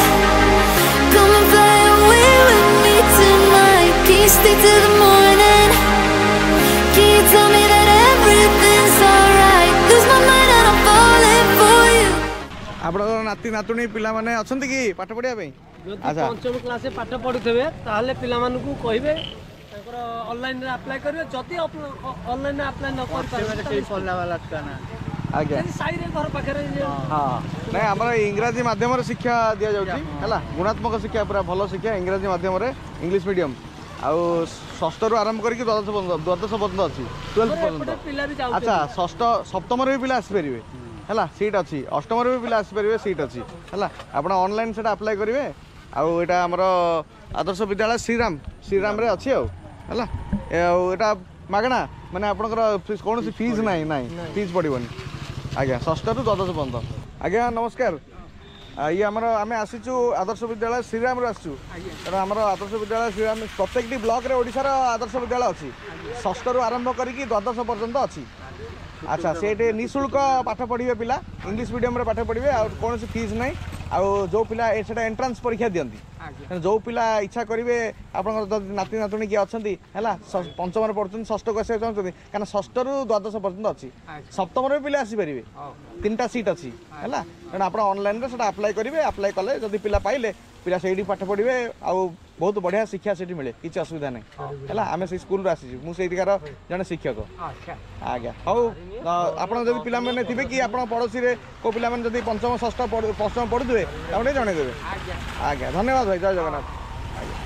Come and fly away with me tonight. Can you stay till the morning? Can you tell me that everything's alright? Lose my mind and I'm falling for you. ଆପଣଙ୍କର ନାତି ନାତୁଣୀ ପିଲାମାନେ ଅଛନ୍ତି କି ପାଠ ପଢ଼ିବା ପାଇଁ? ଯଦି ଆଚ୍ଛା, ପଞ୍ଚମ କ୍ଲାସରେ ପାଠ ପଢୁଥିବେ, ତାହେଲେ ପିଲାମାନଙ୍କୁ କହିବେ ତାଙ୍କର ଅନଲାଇନରେ ଆପ୍ଲାଏ କରିବେ। ଯଦି ଅନଲାଇନରେ ଆପ୍ଲାଏ ନ କରିପାରିବେ, କେହି ପଢ଼ିଲା ବାଲା ଛୁଆ ନାହାନ୍ତି। ଆଜ୍ଞା, ଯଦି ସାହିରେ ଘର ପାଖରେ ହଁ, ନାଇଁ, ଆମର ଇଂରାଜୀ ମାଧ୍ୟମରେ ଶିକ୍ଷା ଦିଆଯାଉଛି ହେଲା, ଗୁଣାତ୍ମକ ଶିକ୍ଷା, ପୁରା ଭଲ ଶିକ୍ଷା, ଇଂରାଜୀ ମାଧ୍ୟମରେ, ଇଂଲିଶ ମିଡ଼ିୟମ୍। ଆଉ ଷଷ୍ଠରୁ ଆରମ୍ଭ କରିକି ଦ୍ୱାଦଶ ପର୍ଯ୍ୟନ୍ତ, ଦ୍ୱାଦଶ ପର୍ଯ୍ୟନ୍ତ ଅଛି, 12th ପର୍ଯ୍ୟନ୍ତ। ଏପଟେ ପିଲା ବି ଯାଉଛନ୍ତି। ଆଚ୍ଛା, ଷଷ୍ଠ ସପ୍ତମରେ ବି ପିଲା ଆସିପାରିବେ ହେଲା, ସିଟ୍ ଅଛି। ଅଷ୍ଟମରେ ବି ପିଲା ଆସିପାରିବେ, ସିଟ୍ ଅଛି ହେଲା। ଆପଣ ଅନଲାଇନ୍ ସେଟା ଆପ୍ଲାଏ କରିବେ। ଆଉ ଏଇଟା ଆମର ଆଦର୍ଶ ବିଦ୍ୟାଳୟ ଶ୍ରୀରାମ, ଶ୍ରୀରାମରେ ଅଛି ଆଉ ହେଲା। ଆଉ ଏଇଟା ମାଗଣା, ମାନେ ଆପଣଙ୍କର କୌଣସି ଫିଜ୍ ନାହିଁ, ନାହିଁ, ଫିଜ୍ ପଡ଼ିବନି ଆଜ୍ଞା, ଷଷ୍ଠରୁ ଦ୍ୱାଦଶ ପର୍ଯ୍ୟନ୍ତ। ଆଜ୍ଞା ନମସ୍କାର। ଇଏ ଆମର, ଆମେ ଆସିଛୁ ଆଦର୍ଶ ବିଦ୍ୟାଳୟ ଶ୍ରୀରାମରୁ ଆସିଛୁ। ତେଣୁ ଆମର ଆଦର୍ଶ ବିଦ୍ୟାଳୟ ଶ୍ରୀରାମ, ପ୍ରତ୍ୟେକଟି ବ୍ଲକରେ ଓଡ଼ିଶାର ଆଦର୍ଶ ବିଦ୍ୟାଳୟ ଅଛି, ଷଷ୍ଠରୁ ଆରମ୍ଭ କରିକି ଦ୍ୱାଦଶ ପର୍ଯ୍ୟନ୍ତ ଅଛି। ଆଚ୍ଛା, ସେଇଠି ନିଃଶୁଳ୍କ ପାଠ ପଢ଼ିବେ ପିଲା, ଇଂଲିଶ ମିଡ଼ିୟମରେ ପାଠ ପଢ଼ିବେ ଆଉ କୌଣସି ଫିଜ୍ ନାହିଁ। ଆଉ ଯେଉଁ ପିଲା ସେଟା ଏଣ୍ଟ୍ରାନ୍ସ ପରୀକ୍ଷା ଦିଅନ୍ତି, ତେଣୁ ଯେଉଁ ପିଲା ଇଚ୍ଛା କରିବେ, ଆପଣଙ୍କର ଯଦି ନାତି ନାତୁଣୀ କିଏ ଅଛନ୍ତି ହେଲା, ପଞ୍ଚମରେ ପଢ଼ୁଛନ୍ତି, ଷଷ୍ଠକୁ ଆସିବାକୁ ଚାହୁଁଛନ୍ତି, କାରଣ ଷଷ୍ଠରୁ ଦ୍ୱାଦଶ ପର୍ଯ୍ୟନ୍ତ ଅଛି, ସପ୍ତମରେ ବି ପିଲା ଆସିପାରିବେ, 3ଟା ସିଟ୍ ଅଛି ହେଲା। ତେଣୁ ଆପଣ ଅନଲାଇନ୍ରେ ସେଟା ଆପ୍ଲାଏ କରିବେ। ଆପ୍ଲାଏ କଲେ ଯଦି ପିଲା ପାଇଲେ, ପିଲା ସେଇଠି ପାଠ ପଢ଼ିବେ ଆଉ ବହୁତ ବଢ଼ିଆ ଶିକ୍ଷା ସେଠି ମିଳେ, କିଛି ଅସୁବିଧା ନାହିଁ ହେଲା। ଆମେ ସେଇ ସ୍କୁଲରୁ ଆସିଛୁ, ମୁଁ ସେଇଠିକାର ଜଣେ ଶିକ୍ଷକ ଆଜ୍ଞା। ହଉ, ଆପଣ ଯଦି ପିଲାମାନେ ଥିବେ କି ଆପଣ ପଡ଼ୋଶୀରେ କେଉଁ ପିଲାମାନେ ଯଦି ପଞ୍ଚମ, ଷଷ୍ଠ, ପଞ୍ଚମ ପଢ଼ୁଥିବେ, ତାଙ୍କୁ ଟିକେ ଜଣେଇଦେବେ ଆଜ୍ଞା। ଧନ୍ୟବାଦ ଭାଇ, ଜୟ ଜଗନ୍ନାଥ ଆଜ୍ଞା।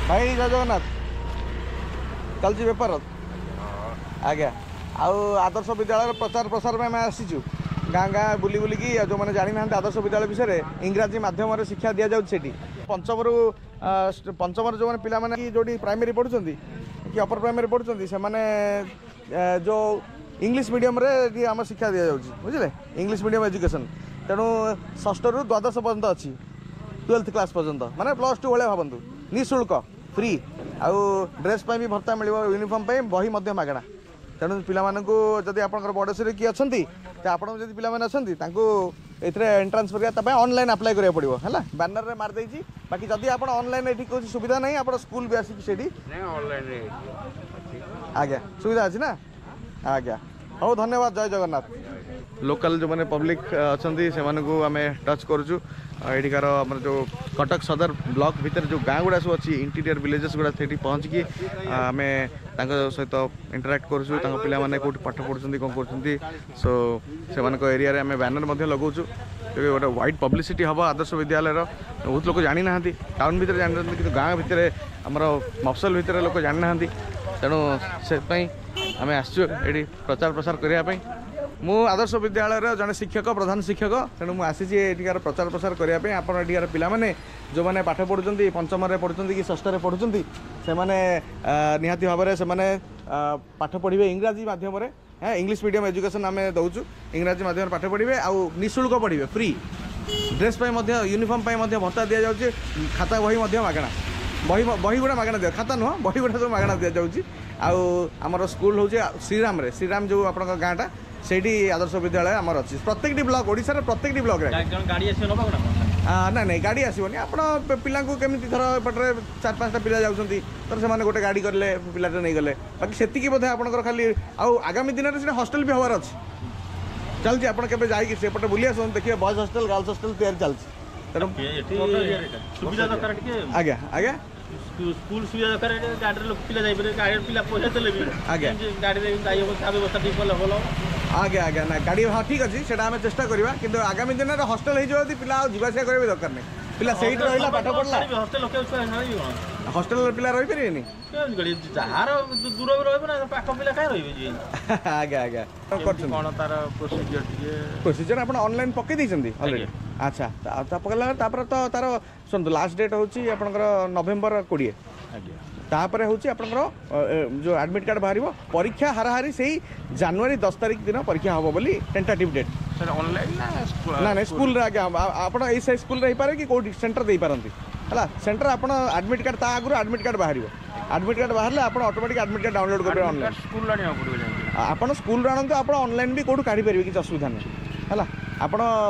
ଭାଇ ଜୟ ଜଗନ୍ନାଥ। ଚାଲିଛି ବେପାର? ଆଜ୍ଞା। ଆଉ ଆଦର୍ଶ ବିଦ୍ୟାଳୟର ପ୍ରଚାର ପ୍ରସାର ପାଇଁ ଆମେ ଆସିଛୁ ଗାଁ ଗାଁ ବୁଲି ବୁଲିକି। ଆଉ ଯେଉଁମାନେ ଜାଣିନାହାନ୍ତି ଆଦର୍ଶ ବିଦ୍ୟାଳୟ ବିଷୟରେ, ଇଂରାଜୀ ମାଧ୍ୟମରେ ଶିକ୍ଷା ଦିଆଯାଉଛି ସେଠି। ପଞ୍ଚମରୁ ପଞ୍ଚମରେ ଯେଉଁମାନେ ପିଲାମାନେ କି ଯେଉଁଠି ପ୍ରାଇମେରୀ ପଢ଼ୁଛନ୍ତି କି ଅପର ପ୍ରାଇମେରୀ ପଢ଼ୁଛନ୍ତି, ସେମାନେ ଯେଉଁ ଇଂଲିଶ ମିଡ଼ିୟମରେ ଏଠି ଆମ ଶିକ୍ଷା ଦିଆଯାଉଛି, ବୁଝିଲେ, ଇଂଲିଶ ମିଡ଼ିୟମ ଏଜୁକେସନ୍। ତେଣୁ ଷଷ୍ଠରୁ ଦ୍ୱାଦଶ ପର୍ଯ୍ୟନ୍ତ ଅଛି, 12th class ପର୍ଯ୍ୟନ୍ତ, ମାନେ +2 ଭଳିଆ ଭାବନ୍ତୁ। ନିଃଶୁଳ୍କ, ଫ୍ରି। ଆଉ ଡ୍ରେସ୍ ପାଇଁ ବି ଭତ୍ତା ମିଳିବ, ୟୁନିଫର୍ମ ପାଇଁ, ବହି ମଧ୍ୟ ମାଗଣା। ତେଣୁ ପିଲାମାନଙ୍କୁ ଯଦି ଆପଣଙ୍କର ପଡ଼ୋଶୀରେ କିଏ ଅଛନ୍ତି, ତ ଆପଣଙ୍କ ଯଦି ପିଲାମାନେ ଅଛନ୍ତି, ତାଙ୍କୁ ଏଥିରେ ଏଣ୍ଟ୍ରାନ୍ସ ପରୀକ୍ଷା ତା ପାଇଁ ଅନଲାଇନ୍ ଆପ୍ଲାଏ କରିବାକୁ ପଡ଼ିବ। ହେଲା, ବ୍ୟାନରରେ ମାରିଦେଇଛି। ବାକି ଯଦି ଆପଣ ଅନଲାଇନ୍ ଏଠି କୌଣସି ସୁବିଧା ନାହିଁ, ଆପଣ ସ୍କୁଲ ବି ଆସିକି ସେଇଠି। ଆଜ୍ଞା, ସୁବିଧା ଅଛି ନା? ଆଜ୍ଞା, ହଉ, ଧନ୍ୟବାଦ, ଜୟ ଜଗନ୍ନାଥ। ଲୋକାଲ ଯେଉଁମାନେ ପବ୍ଲିକ୍ ଅଛନ୍ତି, ସେମାନଙ୍କୁ ଆମେ ଟଚ୍ କରୁଛୁ। ଆଉ ଏଠିକାର ଆମର ଯେଉଁ କଟକ ସଦର ବ୍ଲକ ଭିତରେ ଯେଉଁ ଗାଁ ଗୁଡ଼ା ସବୁ ଅଛି, ଇଣ୍ଟିରିୟର ଭିଲେଜେସ୍ ଗୁଡ଼ା, ସେଇଠି ପହଞ୍ଚିକି ଆମେ ତାଙ୍କ ସହିତ ଇଣ୍ଟରାକ୍ଟ କରୁଛୁ। ତାଙ୍କ ପିଲାମାନେ କେଉଁଠି ପାଠ ପଢ଼ୁଛନ୍ତି, କ'ଣ କରୁଛନ୍ତି, ସୋ ସେମାନଙ୍କ ଏରିଆରେ ଆମେ ବ୍ୟାନର ମଧ୍ୟ ଲଗାଉଛୁ। ତେବେ ଗୋଟେ ୱାଇଡ଼ ପବ୍ଲିସିଟି ହେବ ଆଦର୍ଶ ବିଦ୍ୟାଳୟର। ବହୁତ ଲୋକ ଜାଣିନାହାନ୍ତି, ଟାଉନ୍ ଭିତରେ ଜାଣିଛନ୍ତି, କିନ୍ତୁ ଗାଁ ଭିତରେ, ଆମର ମଫସଲ ଭିତରେ ଲୋକ ଜାଣିନାହାନ୍ତି। ତେଣୁ ସେଥିପାଇଁ ଆମେ ଆସିଛୁ ଏଠି ପ୍ରଚାର ପ୍ରସାର କରିବା ପାଇଁ। ମୁଁ ଆଦର୍ଶ ବିଦ୍ୟାଳୟର ଜଣେ ଶିକ୍ଷକ, ପ୍ରଧାନ ଶିକ୍ଷକ। ତେଣୁ ମୁଁ ଆସିଛି ଏଠିକାର ପ୍ରଚାର ପ୍ରସାର କରିବା ପାଇଁ। ଆପଣ ଏଠିକାର ପିଲାମାନେ ଯେଉଁମାନେ ପାଠ ପଢ଼ୁଛନ୍ତି, ପଞ୍ଚମରେ ପଢ଼ୁଛନ୍ତି କି ଷଷ୍ଠରେ ପଢ଼ୁଛନ୍ତି, ସେମାନେ ନିହାତି ଭାବରେ ସେମାନେ ପାଠ ପଢ଼ିବେ ଇଂରାଜୀ ମାଧ୍ୟମରେ। ହଁ, ଇଂଲିଶ ମିଡ଼ିୟମ୍ ଏଜୁକେସନ୍ ଆମେ ଦେଉଛୁ। ଇଂରାଜୀ ମାଧ୍ୟମରେ ପାଠ ପଢ଼ିବେ ଆଉ ନିଃଶୁଳ୍କ ପଢ଼ିବେ, ଫ୍ରି। ଡ୍ରେସ୍ ପାଇଁ ମଧ୍ୟ, ୟୁନିଫର୍ମ ପାଇଁ ମଧ୍ୟ ଭତ୍ତା ଦିଆଯାଉଛି। ଖାତା ବହି ମଧ୍ୟ ମାଗଣା। ବହି ଗୁଡ଼ା ମାଗଣା ଦିଆ, ଖାତା ନୁହଁ, ବହି ଗୁଡ଼ା ସବୁ ମାଗଣା ଦିଆଯାଉଛି। ଆଉ ଆମର ସ୍କୁଲ ହେଉଛି ଶ୍ରୀରାମରେ, ଶ୍ରୀରାମ ଯେଉଁ ଆପଣଙ୍କ ଗାଁଟା, ସେଇଠି ଆଦର୍ଶ ବିଦ୍ୟାଳୟ ଆମର ଅଛି। ପ୍ରତ୍ୟେକଟି ବ୍ଲକ, ଓଡ଼ିଶାର ପ୍ରତ୍ୟେକଟି ବ୍ଲକରେ। ଗାଡ଼ି ଆସିବ ନେବାକୁ ନା? ନାଇଁ ନାଇଁ, ଗାଡ଼ି ଆସିବନି। ଆପଣ ପିଲାଙ୍କୁ କେମିତି, ଧର ଏପଟରେ ଚାରି ପାଞ୍ଚଟା ପିଲା ଯାଉଛନ୍ତି, ତ ସେମାନେ ଗୋଟେ ଗାଡ଼ି କରିଲେ ପିଲାଟା ନେଇଗଲେ। ବାକି ସେତିକି ବୋଧେ ଆପଣଙ୍କର ଖାଲି। ଆଉ ଆଗାମୀ ଦିନରେ ସେଟା ହଷ୍ଟେଲ ବି ହେବାର ଅଛି, ଚାଲିଛି। ଆପଣ କେବେ ଯାଇକି ସେପଟେ ବୁଲି ଆସନ୍ତୁ, ଦେଖିବେ ବଏଜ୍ ହଷ୍ଟେଲ, ଗାର୍ଲସ ହଷ୍ଟେଲ ତିଆରି ଚାଲିଛି। ତେଣୁ ଏଠି ସୁବିଧା ଦରକାର ଟିକେ। ଆଜ୍ଞା ଆଜ୍ଞା। ସ୍କୁଲ ସୁବିଧା ଦରକାର। ଏଠି ଗାଡ଼ିରେ ଲୋକ ପିଲା ଯାଇପାରିବେ, ଗାଡ଼ିରେ ପିଲା ପଇସା ଦେଲେ ବି ଗାଡ଼ିରେ ଯାଇ ହେବ, ତା ବ୍ୟବସ୍ଥା ଟିକେ କଲେ ଭଲ। ଆଜ୍ଞା ଆଜ୍ଞା, ନା ଗାଡ଼ି, ହଁ, ଠିକ୍ ଅଛି, ସେଇଟା ଆମେ ଚେଷ୍ଟା କରିବା। କିନ୍ତୁ ଆଗାମୀ ଦିନରେ ହଷ୍ଟେଲ ହେଇଯିବ ଯଦି, ପିଲା ଆଉ ଯିବା ଆସିବା କରିବା ବି ଦରକାର ନାହିଁ। ପିଲା ସେଇଠି ରହିଲା, ପାଠ ପଢ଼ିଲା। ହଷ୍ଟେଲ ଲୋକ ଛୁଆ ଛାଡ଼ିବି କ'ଣ? ହଷ୍ଟେଲରେ ପିଲା ରହିପାରିବେନି? ଯାହାର ଦୂର ରହିବ ନା, ପାଖ ପିଲା କାହିଁ ରହିବେ ଯିଏ। ଆଜ୍ଞା ଆଜ୍ଞା, କରୁଛନ୍ତି। କ'ଣ ତାର ପ୍ରୋସିଜିଅର ଟିକେ? ପ୍ରୋସିଜର, ଆପଣ ଅନଲାଇନ୍ ପକେଇ ଦେଇଛନ୍ତି ଅଲରେଡ଼ି? ଆଚ୍ଛା, ତା ପକେଇଲା ତାପରେ ତ ତାର, ଶୁଣନ୍ତୁ, ଲାଷ୍ଟ ଡେଟ୍ ହେଉଛି ଆପଣଙ୍କର ନଭେମ୍ବର 20। ତାପରେ ହେଉଛି ଆପଣଙ୍କର ଯେଉଁ ଆଡ଼ମିଟ୍ କାର୍ଡ଼ ବାହାରିବ। ପରୀକ୍ଷା ହାରାହାରି ସେଇ ଜାନୁଆରୀ 10 ତାରିଖ ଦିନ ପରୀକ୍ଷା ହେବ ବୋଲି ଟେଣ୍ଟାଟିଭ୍ ଡେଟ୍। ସାର୍, ଅନଲାଇନ୍ ନା? ନା ନାଇଁ, ସ୍କୁଲରେ ଆଜ୍ଞା। ଆପଣ ଏଇ ସେଇ ସ୍କୁଲରେ ହେଇପାରେ କି କେଉଁଠି ସେଣ୍ଟର ଦେଇପାରନ୍ତି। ହେଲା, ସେଣ୍ଟର ଆପଣ ଆଡ଼ମିଟ୍ କାର୍ଡ଼, ତା ଆଗରୁ ଆଡ଼ମିଟ୍ କାର୍ଡ଼ ବାହାରିବ। ଆଡ଼ମିଟ୍ କାର୍ଡ଼ ବାହାରିଲେ ଆପଣ ଅଟୋମେଟିକ୍ ଆଡ଼ମିଟ୍ କାର୍ଡ଼ ଡାଉନଲୋଡ଼ କରିବେ ଅନଲାଇନ୍। ସ୍କୁଲ ଆଣିବାକୁ ପଡ଼ିବ ଯାଇକି? ଆପଣ ସ୍କୁଲରୁ ଆଣନ୍ତୁ, ଆପଣ ଅନଲାଇନ୍ ବି କେଉଁଠୁ କାଢ଼ିପାରିବେ, କିଛି ଅସୁବିଧା ନାହିଁ। ହେଲା, ଆପଣ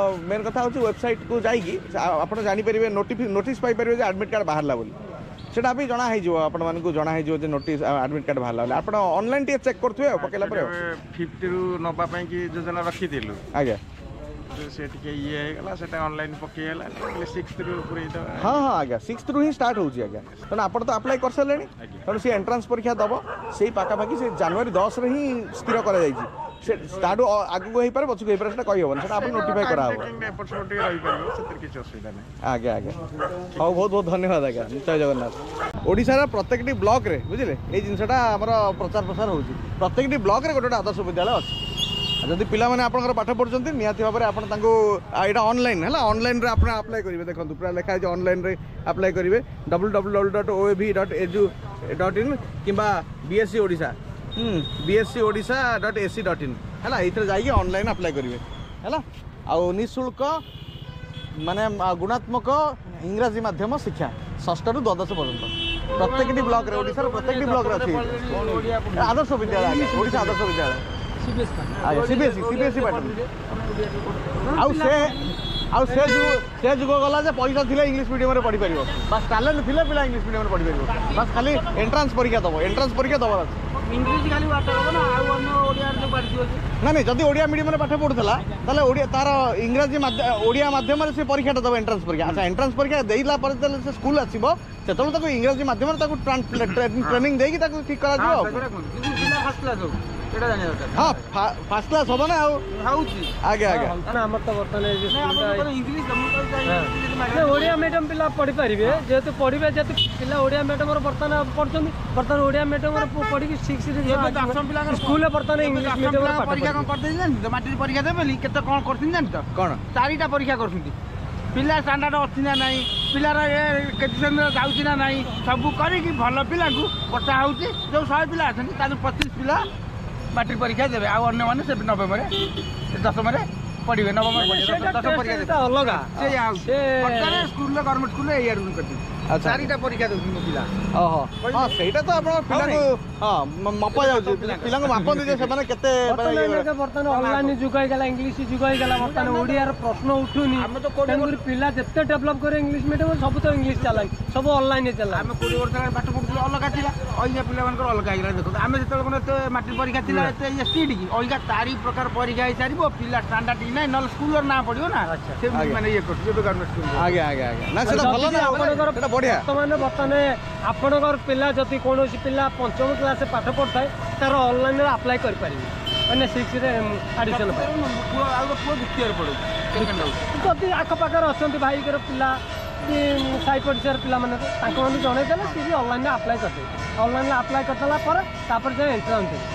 ମେନ୍ କଥା ହେଉଛି ୱେବସାଇଟ୍କୁ ଯାଇକି ଆପଣ ଜାଣିପାରିବେ, ନୋଟିସ୍ ପାଇପାରିବେ ଯେ ଆଡ଼ମିଟ୍ କାର୍ଡ଼ ବାହାରିଲା ବୋଲି। ସେଇଟା ବି ଜଣା ହେଇଯିବ, ଆପଣମାନଙ୍କୁ ଜଣା ହେଇଯିବ ଯେ ନୋଟିସ୍, ଆଡ଼ମିଟ୍ କାର୍ଡ଼ ବାହାରିଲା ବୋଲି। ଆପଣ ଅନଲାଇନ୍ ଟିକେ ଚେକ୍ କରୁଥିବେ ଆଉ ପକେଇଲା ପରେ ଆଉ। ଫିଫ୍ଥରୁ ନେବା ପାଇଁ କି ଯୋଜନା ରଖିଥିଲୁ। କିନ୍ତୁ ସେ ଟିକେ ଇଏ ହେଇଗଲା, ସେଟା ଅନଲାଇନ୍ ପକେଇ ହେଲା, ସିକ୍ସଥରୁ ପୁରେଇ ଦେବା। ହଁ ହଁ ଆଜ୍ଞା, ସିକ୍ସଥରୁ ହିଁ ଷ୍ଟାର୍ଟ ହେଉଛି ଆଜ୍ଞା। ତେଣୁ ଆପଣ ତ ଆପ୍ଲାଏ କରିସାରିଲେଣି। ତେଣୁ ସେ ଏଣ୍ଟ୍ରାନ୍ସ ପରୀକ୍ଷା ଦେବ ସେଇ ପାଖାପାଖି ସେ ଜାନୁଆରୀ 10ରେ ହିଁ ସ୍ଥିର କରାଯାଇଛି। ସେ ତାଠୁ ଆଗକୁ ହେଇପାରେ, ପଛକୁ ହେଇପାରେ, ସେଟା କହିହେବନି। ସେଟା ଆପଣ ନୋଟିଫାଇ କରାହେବ। ଏପଟ ସେପଟ ଟିକେ ରହିପାରିବ, ସେଥିରେ କିଛି ଅସୁବିଧା ନାହିଁ। ଆଜ୍ଞା ଆଜ୍ଞା, ହଉ, ବହୁତ ବହୁତ ଧନ୍ୟବାଦ ଆଜ୍ଞା, ଜୟ ଜଗନ୍ନାଥ। ଓଡ଼ିଶାର ପ୍ରତ୍ୟେକଟି ବ୍ଲକରେ, ବୁଝିଲେ, ଏଇ ଜିନିଷଟା ଆମର ପ୍ରଚାର ପ୍ରସାର ହେଉଛି। ପ୍ରତ୍ୟେକଟି ବ୍ଲକରେ ଗୋଟେ ଗୋଟେ ଆଦର୍ଶ ବିଦ୍ୟାଳୟ ଅଛି। ଆଉ ଯଦି ପିଲାମାନେ ଆପଣଙ୍କର ପାଠ ପଢ଼ୁଛନ୍ତି, ନିହାତି ଭାବରେ ଆପଣ ତାଙ୍କୁ ଏଇଟା ଅନଲାଇନ୍ ହେଲା, ଅନଲାଇନ୍ରେ ଆପଣ ଆପ୍ଲାଏ କରିବେ। ଦେଖନ୍ତୁ, ପୁରା ଲେଖା ହେଇଛି, ଅନଲାଇନ୍ରେ ଆପ୍ଲାଏ କରିବେ www.oav.edu.in କିମ୍ବା ବିଏସଇ ଓଡ଼ିଶା, bseodisha.ac.in। ହେଲା, ଏଇଥିରେ ଯାଇକି ଅନଲାଇନ୍ ଆପ୍ଲାଏ କରିବେ। ହେଲା, ଆଉ ନିଃଶୁଳ୍କ ମାନେ ଗୁଣାତ୍ମକ ଇଂରାଜୀ ମାଧ୍ୟମ ଶିକ୍ଷା ଷଷ୍ଠରୁ ଦ୍ୱାଦଶ ପର୍ଯ୍ୟନ୍ତ ପ୍ରତ୍ୟେକଟି ବ୍ଲକରେ, ଓଡ଼ିଶାର ପ୍ରତ୍ୟେକଟି ବ୍ଲକରେ ଅଛି ଆଦର୍ଶ ବିଦ୍ୟାଳୟ ଆଜ୍ଞା, ଓଡ଼ିଶା ଆଦର୍ଶ ବିଦ୍ୟାଳୟ ଆଜ୍ଞା। CBSE, CBSE pattern. ଆଉ ସେ ଯୁଗ, ସେ ଯୁଗ ଗଲା ଯେ ପଇସା ଥିଲେ ଇଂଲିଶ ମିଡ଼ିୟମରେ ପଢ଼ିପାରିବ। ବାସ୍, ଟ୍ୟାଲେଣ୍ଟ ଥିଲେ ପିଲା ଇଂଲିଶ ମିଡ଼ିୟମରେ ପଢ଼ିପାରିବ। ବାସ୍, ଖାଲି ଏଣ୍ଟ୍ରାନ୍ସ ପରୀକ୍ଷା ଦେବ, ଏଣ୍ଟ୍ରାନ୍ସ ପରୀକ୍ଷା ଦେବାର ଅଛି। ଇଂଲିଶ ଖାଲି ପାଠ ହବ ନା ଆଉ ଅନ୍ୟ ଓଡ଼ିଆରେ ଯୋଉ ପାଠ ଅଛି? ନା ନାଇଁ, ଯଦି ଓଡ଼ିଆ ମିଡ଼ିୟମରେ ପାଠ ପଢ଼ୁଥିଲା, ତାହେଲେ ଓଡ଼ିଆ ତାର ଇଂରାଜୀ ଓଡ଼ିଆ ମାଧ୍ୟମରେ ସେ ପରୀକ୍ଷାଟା ଦେବ, ଏଣ୍ଟ୍ରାନ୍ସ ପରୀକ୍ଷା। ଆଚ୍ଛା, ଏଣ୍ଟ୍ରାନ୍ସ ପରୀକ୍ଷା ଦେଇଲା ପରେ ଯେତେବେଳେ ସେ ସ୍କୁଲ ଆସିବ, ସେତେବେଳେ ତାକୁ ଇଂରାଜୀ ମାଧ୍ୟମରେ ତାକୁ ଟ୍ରେନିଂ ଦେଇକି ତାକୁ ଠିକ୍ କରାଯିବ। ଆଉ କିନ୍ତୁ ପିଲା ଫାର୍ଷ୍ଟ କ୍ଲାସ୍ ହଉ। ସେଇଟା ଜାଣିବା ଦରକାର। ହଁ, ଫାର୍ଷ୍ଟ କ୍ଲାସ୍ ହବ ନା ଆଉ ହଉଛି। ଆଜ୍ଞା ଆଜ୍ଞା। ଆମର ତ ବର୍ତ୍ତମାନ ଇଂଲିଶ ଓଡ଼ିଆ ମିଡ଼ିୟମ ପିଲା ପଢ଼ିପାରିବେ, ଯେହେତୁ ପଢ଼ିବେ, ଯେହେତୁ ପିଲା ଓଡ଼ିଆ ମିଡ଼ିୟମର ବର୍ତ୍ତମାନ ପଢ଼ୁଛନ୍ତି, ବର୍ତ୍ତମାନ ଓଡ଼ିଆ ମିଡ଼ିୟମର ପଢ଼ିକି ସିକ୍ସ ସ୍କୁଲରେ ବର୍ତ୍ତମାନ ଇଂଲିଶ ମିଡ଼ିୟମର ପରୀକ୍ଷା କ'ଣ କରିଦେଇଛି ଜାଣିଛ? ମାଟ୍ରିକ ପରୀକ୍ଷା ଦେବେ ବୋଲି କେତେ କ'ଣ କରୁଛନ୍ତି ଜାଣିଛ? କ'ଣ 4ଟା ପରୀକ୍ଷା କରୁଛନ୍ତି। ପିଲା ଷ୍ଟାଣ୍ଡାର୍ଡ ଅଛି ନା ନାହିଁ, ପିଲାର ଏ କେତେ ଶ୍ରେଣୀରେ ଯାଉଛି ନା ନାହିଁ, ସବୁ କରିକି ଭଲ ପିଲାଙ୍କୁ ପଠା ହେଉଛି। ଯେଉଁ 100 ପିଲା ଅଛନ୍ତି ତା 25 ପିଲା ମାଟ୍ରିକ ପରୀକ୍ଷା ଦେବେ, ଆଉ ଅନ୍ୟମାନେ ସେ ନବମରେ ଦଶମରେ ପଢ଼ିବେ। ନବମରେ ଦଶମ ପରୀକ୍ଷା ଅଲଗା। ସେଇଆ ହେଉଛି ବର୍ତ୍ତମାନ ସ୍କୁଲରେ, ଗଭର୍ଣ୍ଣମେଣ୍ଟ ସ୍କୁଲରେ ଏଇଆ ରୁଲ୍ କରିଛନ୍ତି। 4ଟା ପରୀକ୍ଷା ଦେଉଛନ୍ତି ମୋ ପିଲା। ଓହୋ, ହଁ, ସେଇଟା ତ ଆପଣ ପିଲାଙ୍କୁ ହଁ ମପା ଯାଉଛି, ପିଲାଙ୍କୁ ମାପନ୍ତି ଯେ ସେମାନେ କେତେ। ବର୍ତ୍ତମାନ ଅନଲାଇନ ଯୁଗ ହେଇଗଲା, ଇଂଲିଶ ଯୁଗ ହେଇଗଲା, ବର୍ତ୍ତମାନ ଓଡ଼ିଆର ପ୍ରଶ୍ନ ଉଠୁନି। ତେଣୁକରି ପିଲା ଯେତେ ଡେଭଲପ କରିବେ ଇଂଲିଶ ମିଡ଼ିୟମ, ସବୁ ତ ଇଂଲିଶ ଚାଲାଣି, ସବୁ ଅନଲାଇନ ଚାଲାଣି। ଆମେ 20 ବର୍ଷ ହେଲାଣି ପାଠ ପଢୁଥିଲୁ, ଅଲଗା ଥିଲା। ଅଇକା ପିଲାମାନଙ୍କର ଅଲଗା ହେଇଗଲା। ଦେଖନ୍ତୁ, ଆମେ ଯେତେବେଳେ କ'ଣ ଏତେ ମାଟ୍ରିକ ପରୀକ୍ଷା ଥିଲା ଏତେ ଇଏ ଷ୍ଟ୍ରିକ୍ଟ କି? ଅଇକା 4 ପ୍ରକାର ପରୀକ୍ଷା ହେଇସାରିବ, ପିଲା ଷ୍ଟାଣ୍ଡାର୍ଡ କି ନାହିଁ, ନହେଲେ ସ୍କୁଲର ନାଁ ପଡ଼ିବ ନା, ସେମିତି ମାନେ ଇଏ କରୁଛୁ ଏବେ ଗଭର୍ଣ୍ଣମେଣ୍ଟ ସ୍କୁଲ। ଆଜ୍ଞା ଆଜ୍ଞା ଆଜ୍ଞା। ନା ସେଇଟା ଭଲ ନା, ସେଇଟା ବଢ଼ିଆ। ବର୍ତ୍ତମାନ ଆପଣଙ୍କର ପିଲା ଯଦି କୌଣସି ପିଲା ପଞ୍ଚମ କ୍ଲାସ ପାଠ ପଢ଼ୁଥାଏ, ତାର ଅନଲାଇନରେ ଆପ୍ଲାଏ କରିପାରିବେ, ମାନେ ସିକ୍ସରେ ଆଡ଼ମିସନ୍ ପାଇଁ। ପୁଅ ଆଉ ପୁଅ ଦ୍ୱିତୀୟରେ ପଢ଼ୁଛି। ଯଦି ଆଖପାଖରେ ଅଛନ୍ତି ଭାଇଙ୍କର ପିଲା କି ସାହି ପଡ଼ିଶାର ପିଲାମାନେ, ତାଙ୍କମାନଙ୍କୁ ଜଣେଇଦେଲେ ସିଏ ବି ଅନଲାଇନରେ ଆପ୍ଲାଏ କରିଦେବେ। ଅନଲାଇନରେ ଆପ୍ଲାଏ କରିଦେଲା ପରେ ତାପରେ ଯାଇ ଏଣ୍ଟ୍ରାନ୍ସ ଦେବେ।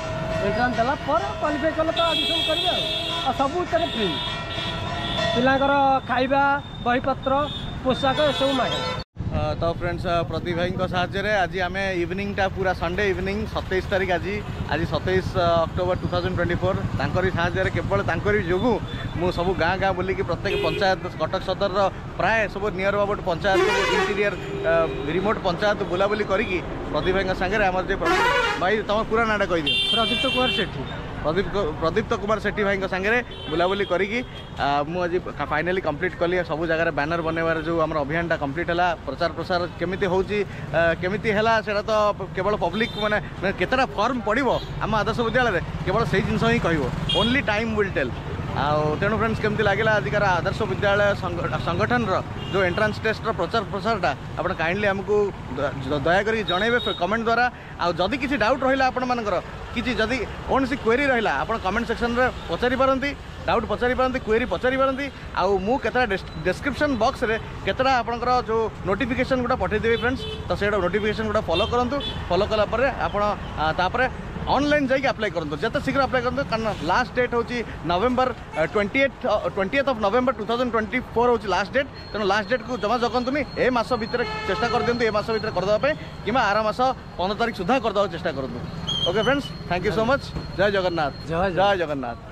ଏଣ୍ଟ୍ରାନ୍ସ ଦେଲା ପରେ କ୍ୱାଲିଫାଇ କଲେ ତ ଆଡ଼ମିସନ୍ କରିବେ। ଆଉ ସବୁଥିରେ ଫ୍ରି, ପିଲାଙ୍କର ଖାଇବା, ବହିପତ୍ର, ପୋଷାକ ଏସବୁ ମାଗଣା। ତ ଫ୍ରେଣ୍ଡସ୍, ପ୍ରଦୀପ ଭାଇଙ୍କ ସାହାଯ୍ୟରେ ଆଜି ଆମେ ଇଭିନିଂଟା ପୁରା ସଣ୍ଡେ ଇଭିନିଂ 27 ତାରିଖ, ଆଜି ଆଜି 27 ଅକ୍ଟୋବର 2024, ତାଙ୍କରି ସାହାଯ୍ୟରେ, କେବଳ ତାଙ୍କରି ଯୋଗୁଁ ମୁଁ ସବୁ ଗାଁ ଗାଁ ବୁଲିକି ପ୍ରତ୍ୟେକ ପଞ୍ଚାୟତ କଟକ ସଦରର ପ୍ରାୟ ସବୁ near about panchayat, interior remote panchayat ବୁଲାବୁଲି କରିକି ପ୍ରଦୀପ ଭାଇଙ୍କ ସାଙ୍ଗରେ ଆମର ଯେ ଭାଇ, ତୁମ ପୁରା ନାଁଟା କହିଦିଅ। ପ୍ରଦୀପ୍ତ କୁମାର ସେଠୀ। ପ୍ରଦୀପ୍ତ କୁମାର ସେଠୀ ଭାଇଙ୍କ ସାଙ୍ଗରେ ବୁଲାବୁଲି କରିକି ମୁଁ ଆଜି ଫାଇନାଲି କମ୍ପ୍ଲିଟ୍ କଲି। ସବୁ ଜାଗାରେ ବ୍ୟାନର ବନେଇବାର ଯେଉଁ ଆମର ଅଭିଯାନଟା କମ୍ପ୍ଲିଟ୍ ହେଲା। ପ୍ରଚାର ପ୍ରସାର କେମିତି ହେଉଛି, କେମିତି ହେଲା, ସେଇଟା ତ କେବଳ ପବ୍ଲିକ୍ ମାନେ କେତେଟା ଫର୍ମ ପଡ଼ିବ ଆମ ଆଦର୍ଶ ବିଦ୍ୟାଳୟରେ କେବଳ ସେଇ ଜିନିଷ ହିଁ କହିବ। Only time will tail. ଆଉ ତେଣୁ ଫ୍ରେଣ୍ଡସ୍, କେମିତି ଲାଗିଲା ଆଜିକାର ଆଦର୍ଶ ବିଦ୍ୟାଳୟ ସଂଗଠନର ଯେଉଁ ଏଣ୍ଟ୍ରାନ୍ସ ଟେଷ୍ଟର ପ୍ରଚାର ପ୍ରସାରଟା, ଆପଣ କାଇଣ୍ଡଲି ଆମକୁ ଦୟାକରି ଜଣାଇବେ କମେଣ୍ଟ ଦ୍ୱାରା। ଆଉ ଯଦି କିଛି ଡାଉଟ୍ ରହିଲା ଆପଣମାନଙ୍କର, କିଛି ଯଦି କୌଣସି କ୍ୱେରି ରହିଲା, ଆପଣ କମେଣ୍ଟ ସେକ୍ସନରେ ପଚାରି ପାରନ୍ତି, ଡାଉଟ୍ ପଚାରି ପାରନ୍ତି, କ୍ୱେରି ପଚାରି ପାରନ୍ତି। ଆଉ ମୁଁ କେତେଟା ଡେସ୍କ୍ରିପସନ୍ ବକ୍ସରେ କେତେଟା ଆପଣଙ୍କର ଯେଉଁ ନୋଟିଫିକେସନ୍ ଗୁଡ଼ା ପଠାଇଦେବି ଫ୍ରେଣ୍ଡସ୍, ତ ସେଇଟା ନୋଟିଫିକେସନ୍ ଗୁଡ଼ା ଫଲୋ କରନ୍ତୁ। ଫଲୋ କଲା ପରେ ଆପଣ ତାପରେ ଅନଲାଇନ୍ ଯାଇକି ଆପ୍ଲାଏ କରନ୍ତୁ, ଯେତେ ଶୀଘ୍ର ଆପ୍ଲାଏ କରନ୍ତୁ, କାରଣ ଲାଷ୍ଟ ଡେଟ୍ ହେଉଛି November 28, 20th of November 2024 ହେଉଛି ଲାଷ୍ଟ ଡେଟ୍। ତେଣୁ ଲାଷ୍ଟ ଡେଟ୍କୁ ଜମା ଜଗନ୍ତୁନି, ଏ ମାସ ଭିତରେ ଚେଷ୍ଟା କରିଦିଅନ୍ତୁ, ଏ ମାସ ଭିତରେ କରିଦେବା ପାଇଁ କିମ୍ବା ଆର ମାସ 15 ତାରିଖ ସୁଦ୍ଧା କରିଦେବାକୁ ଚେଷ୍ଟା କରନ୍ତୁ। Okay friends, thank you so much. Jay Jagannath. Jay Jay Jagannath.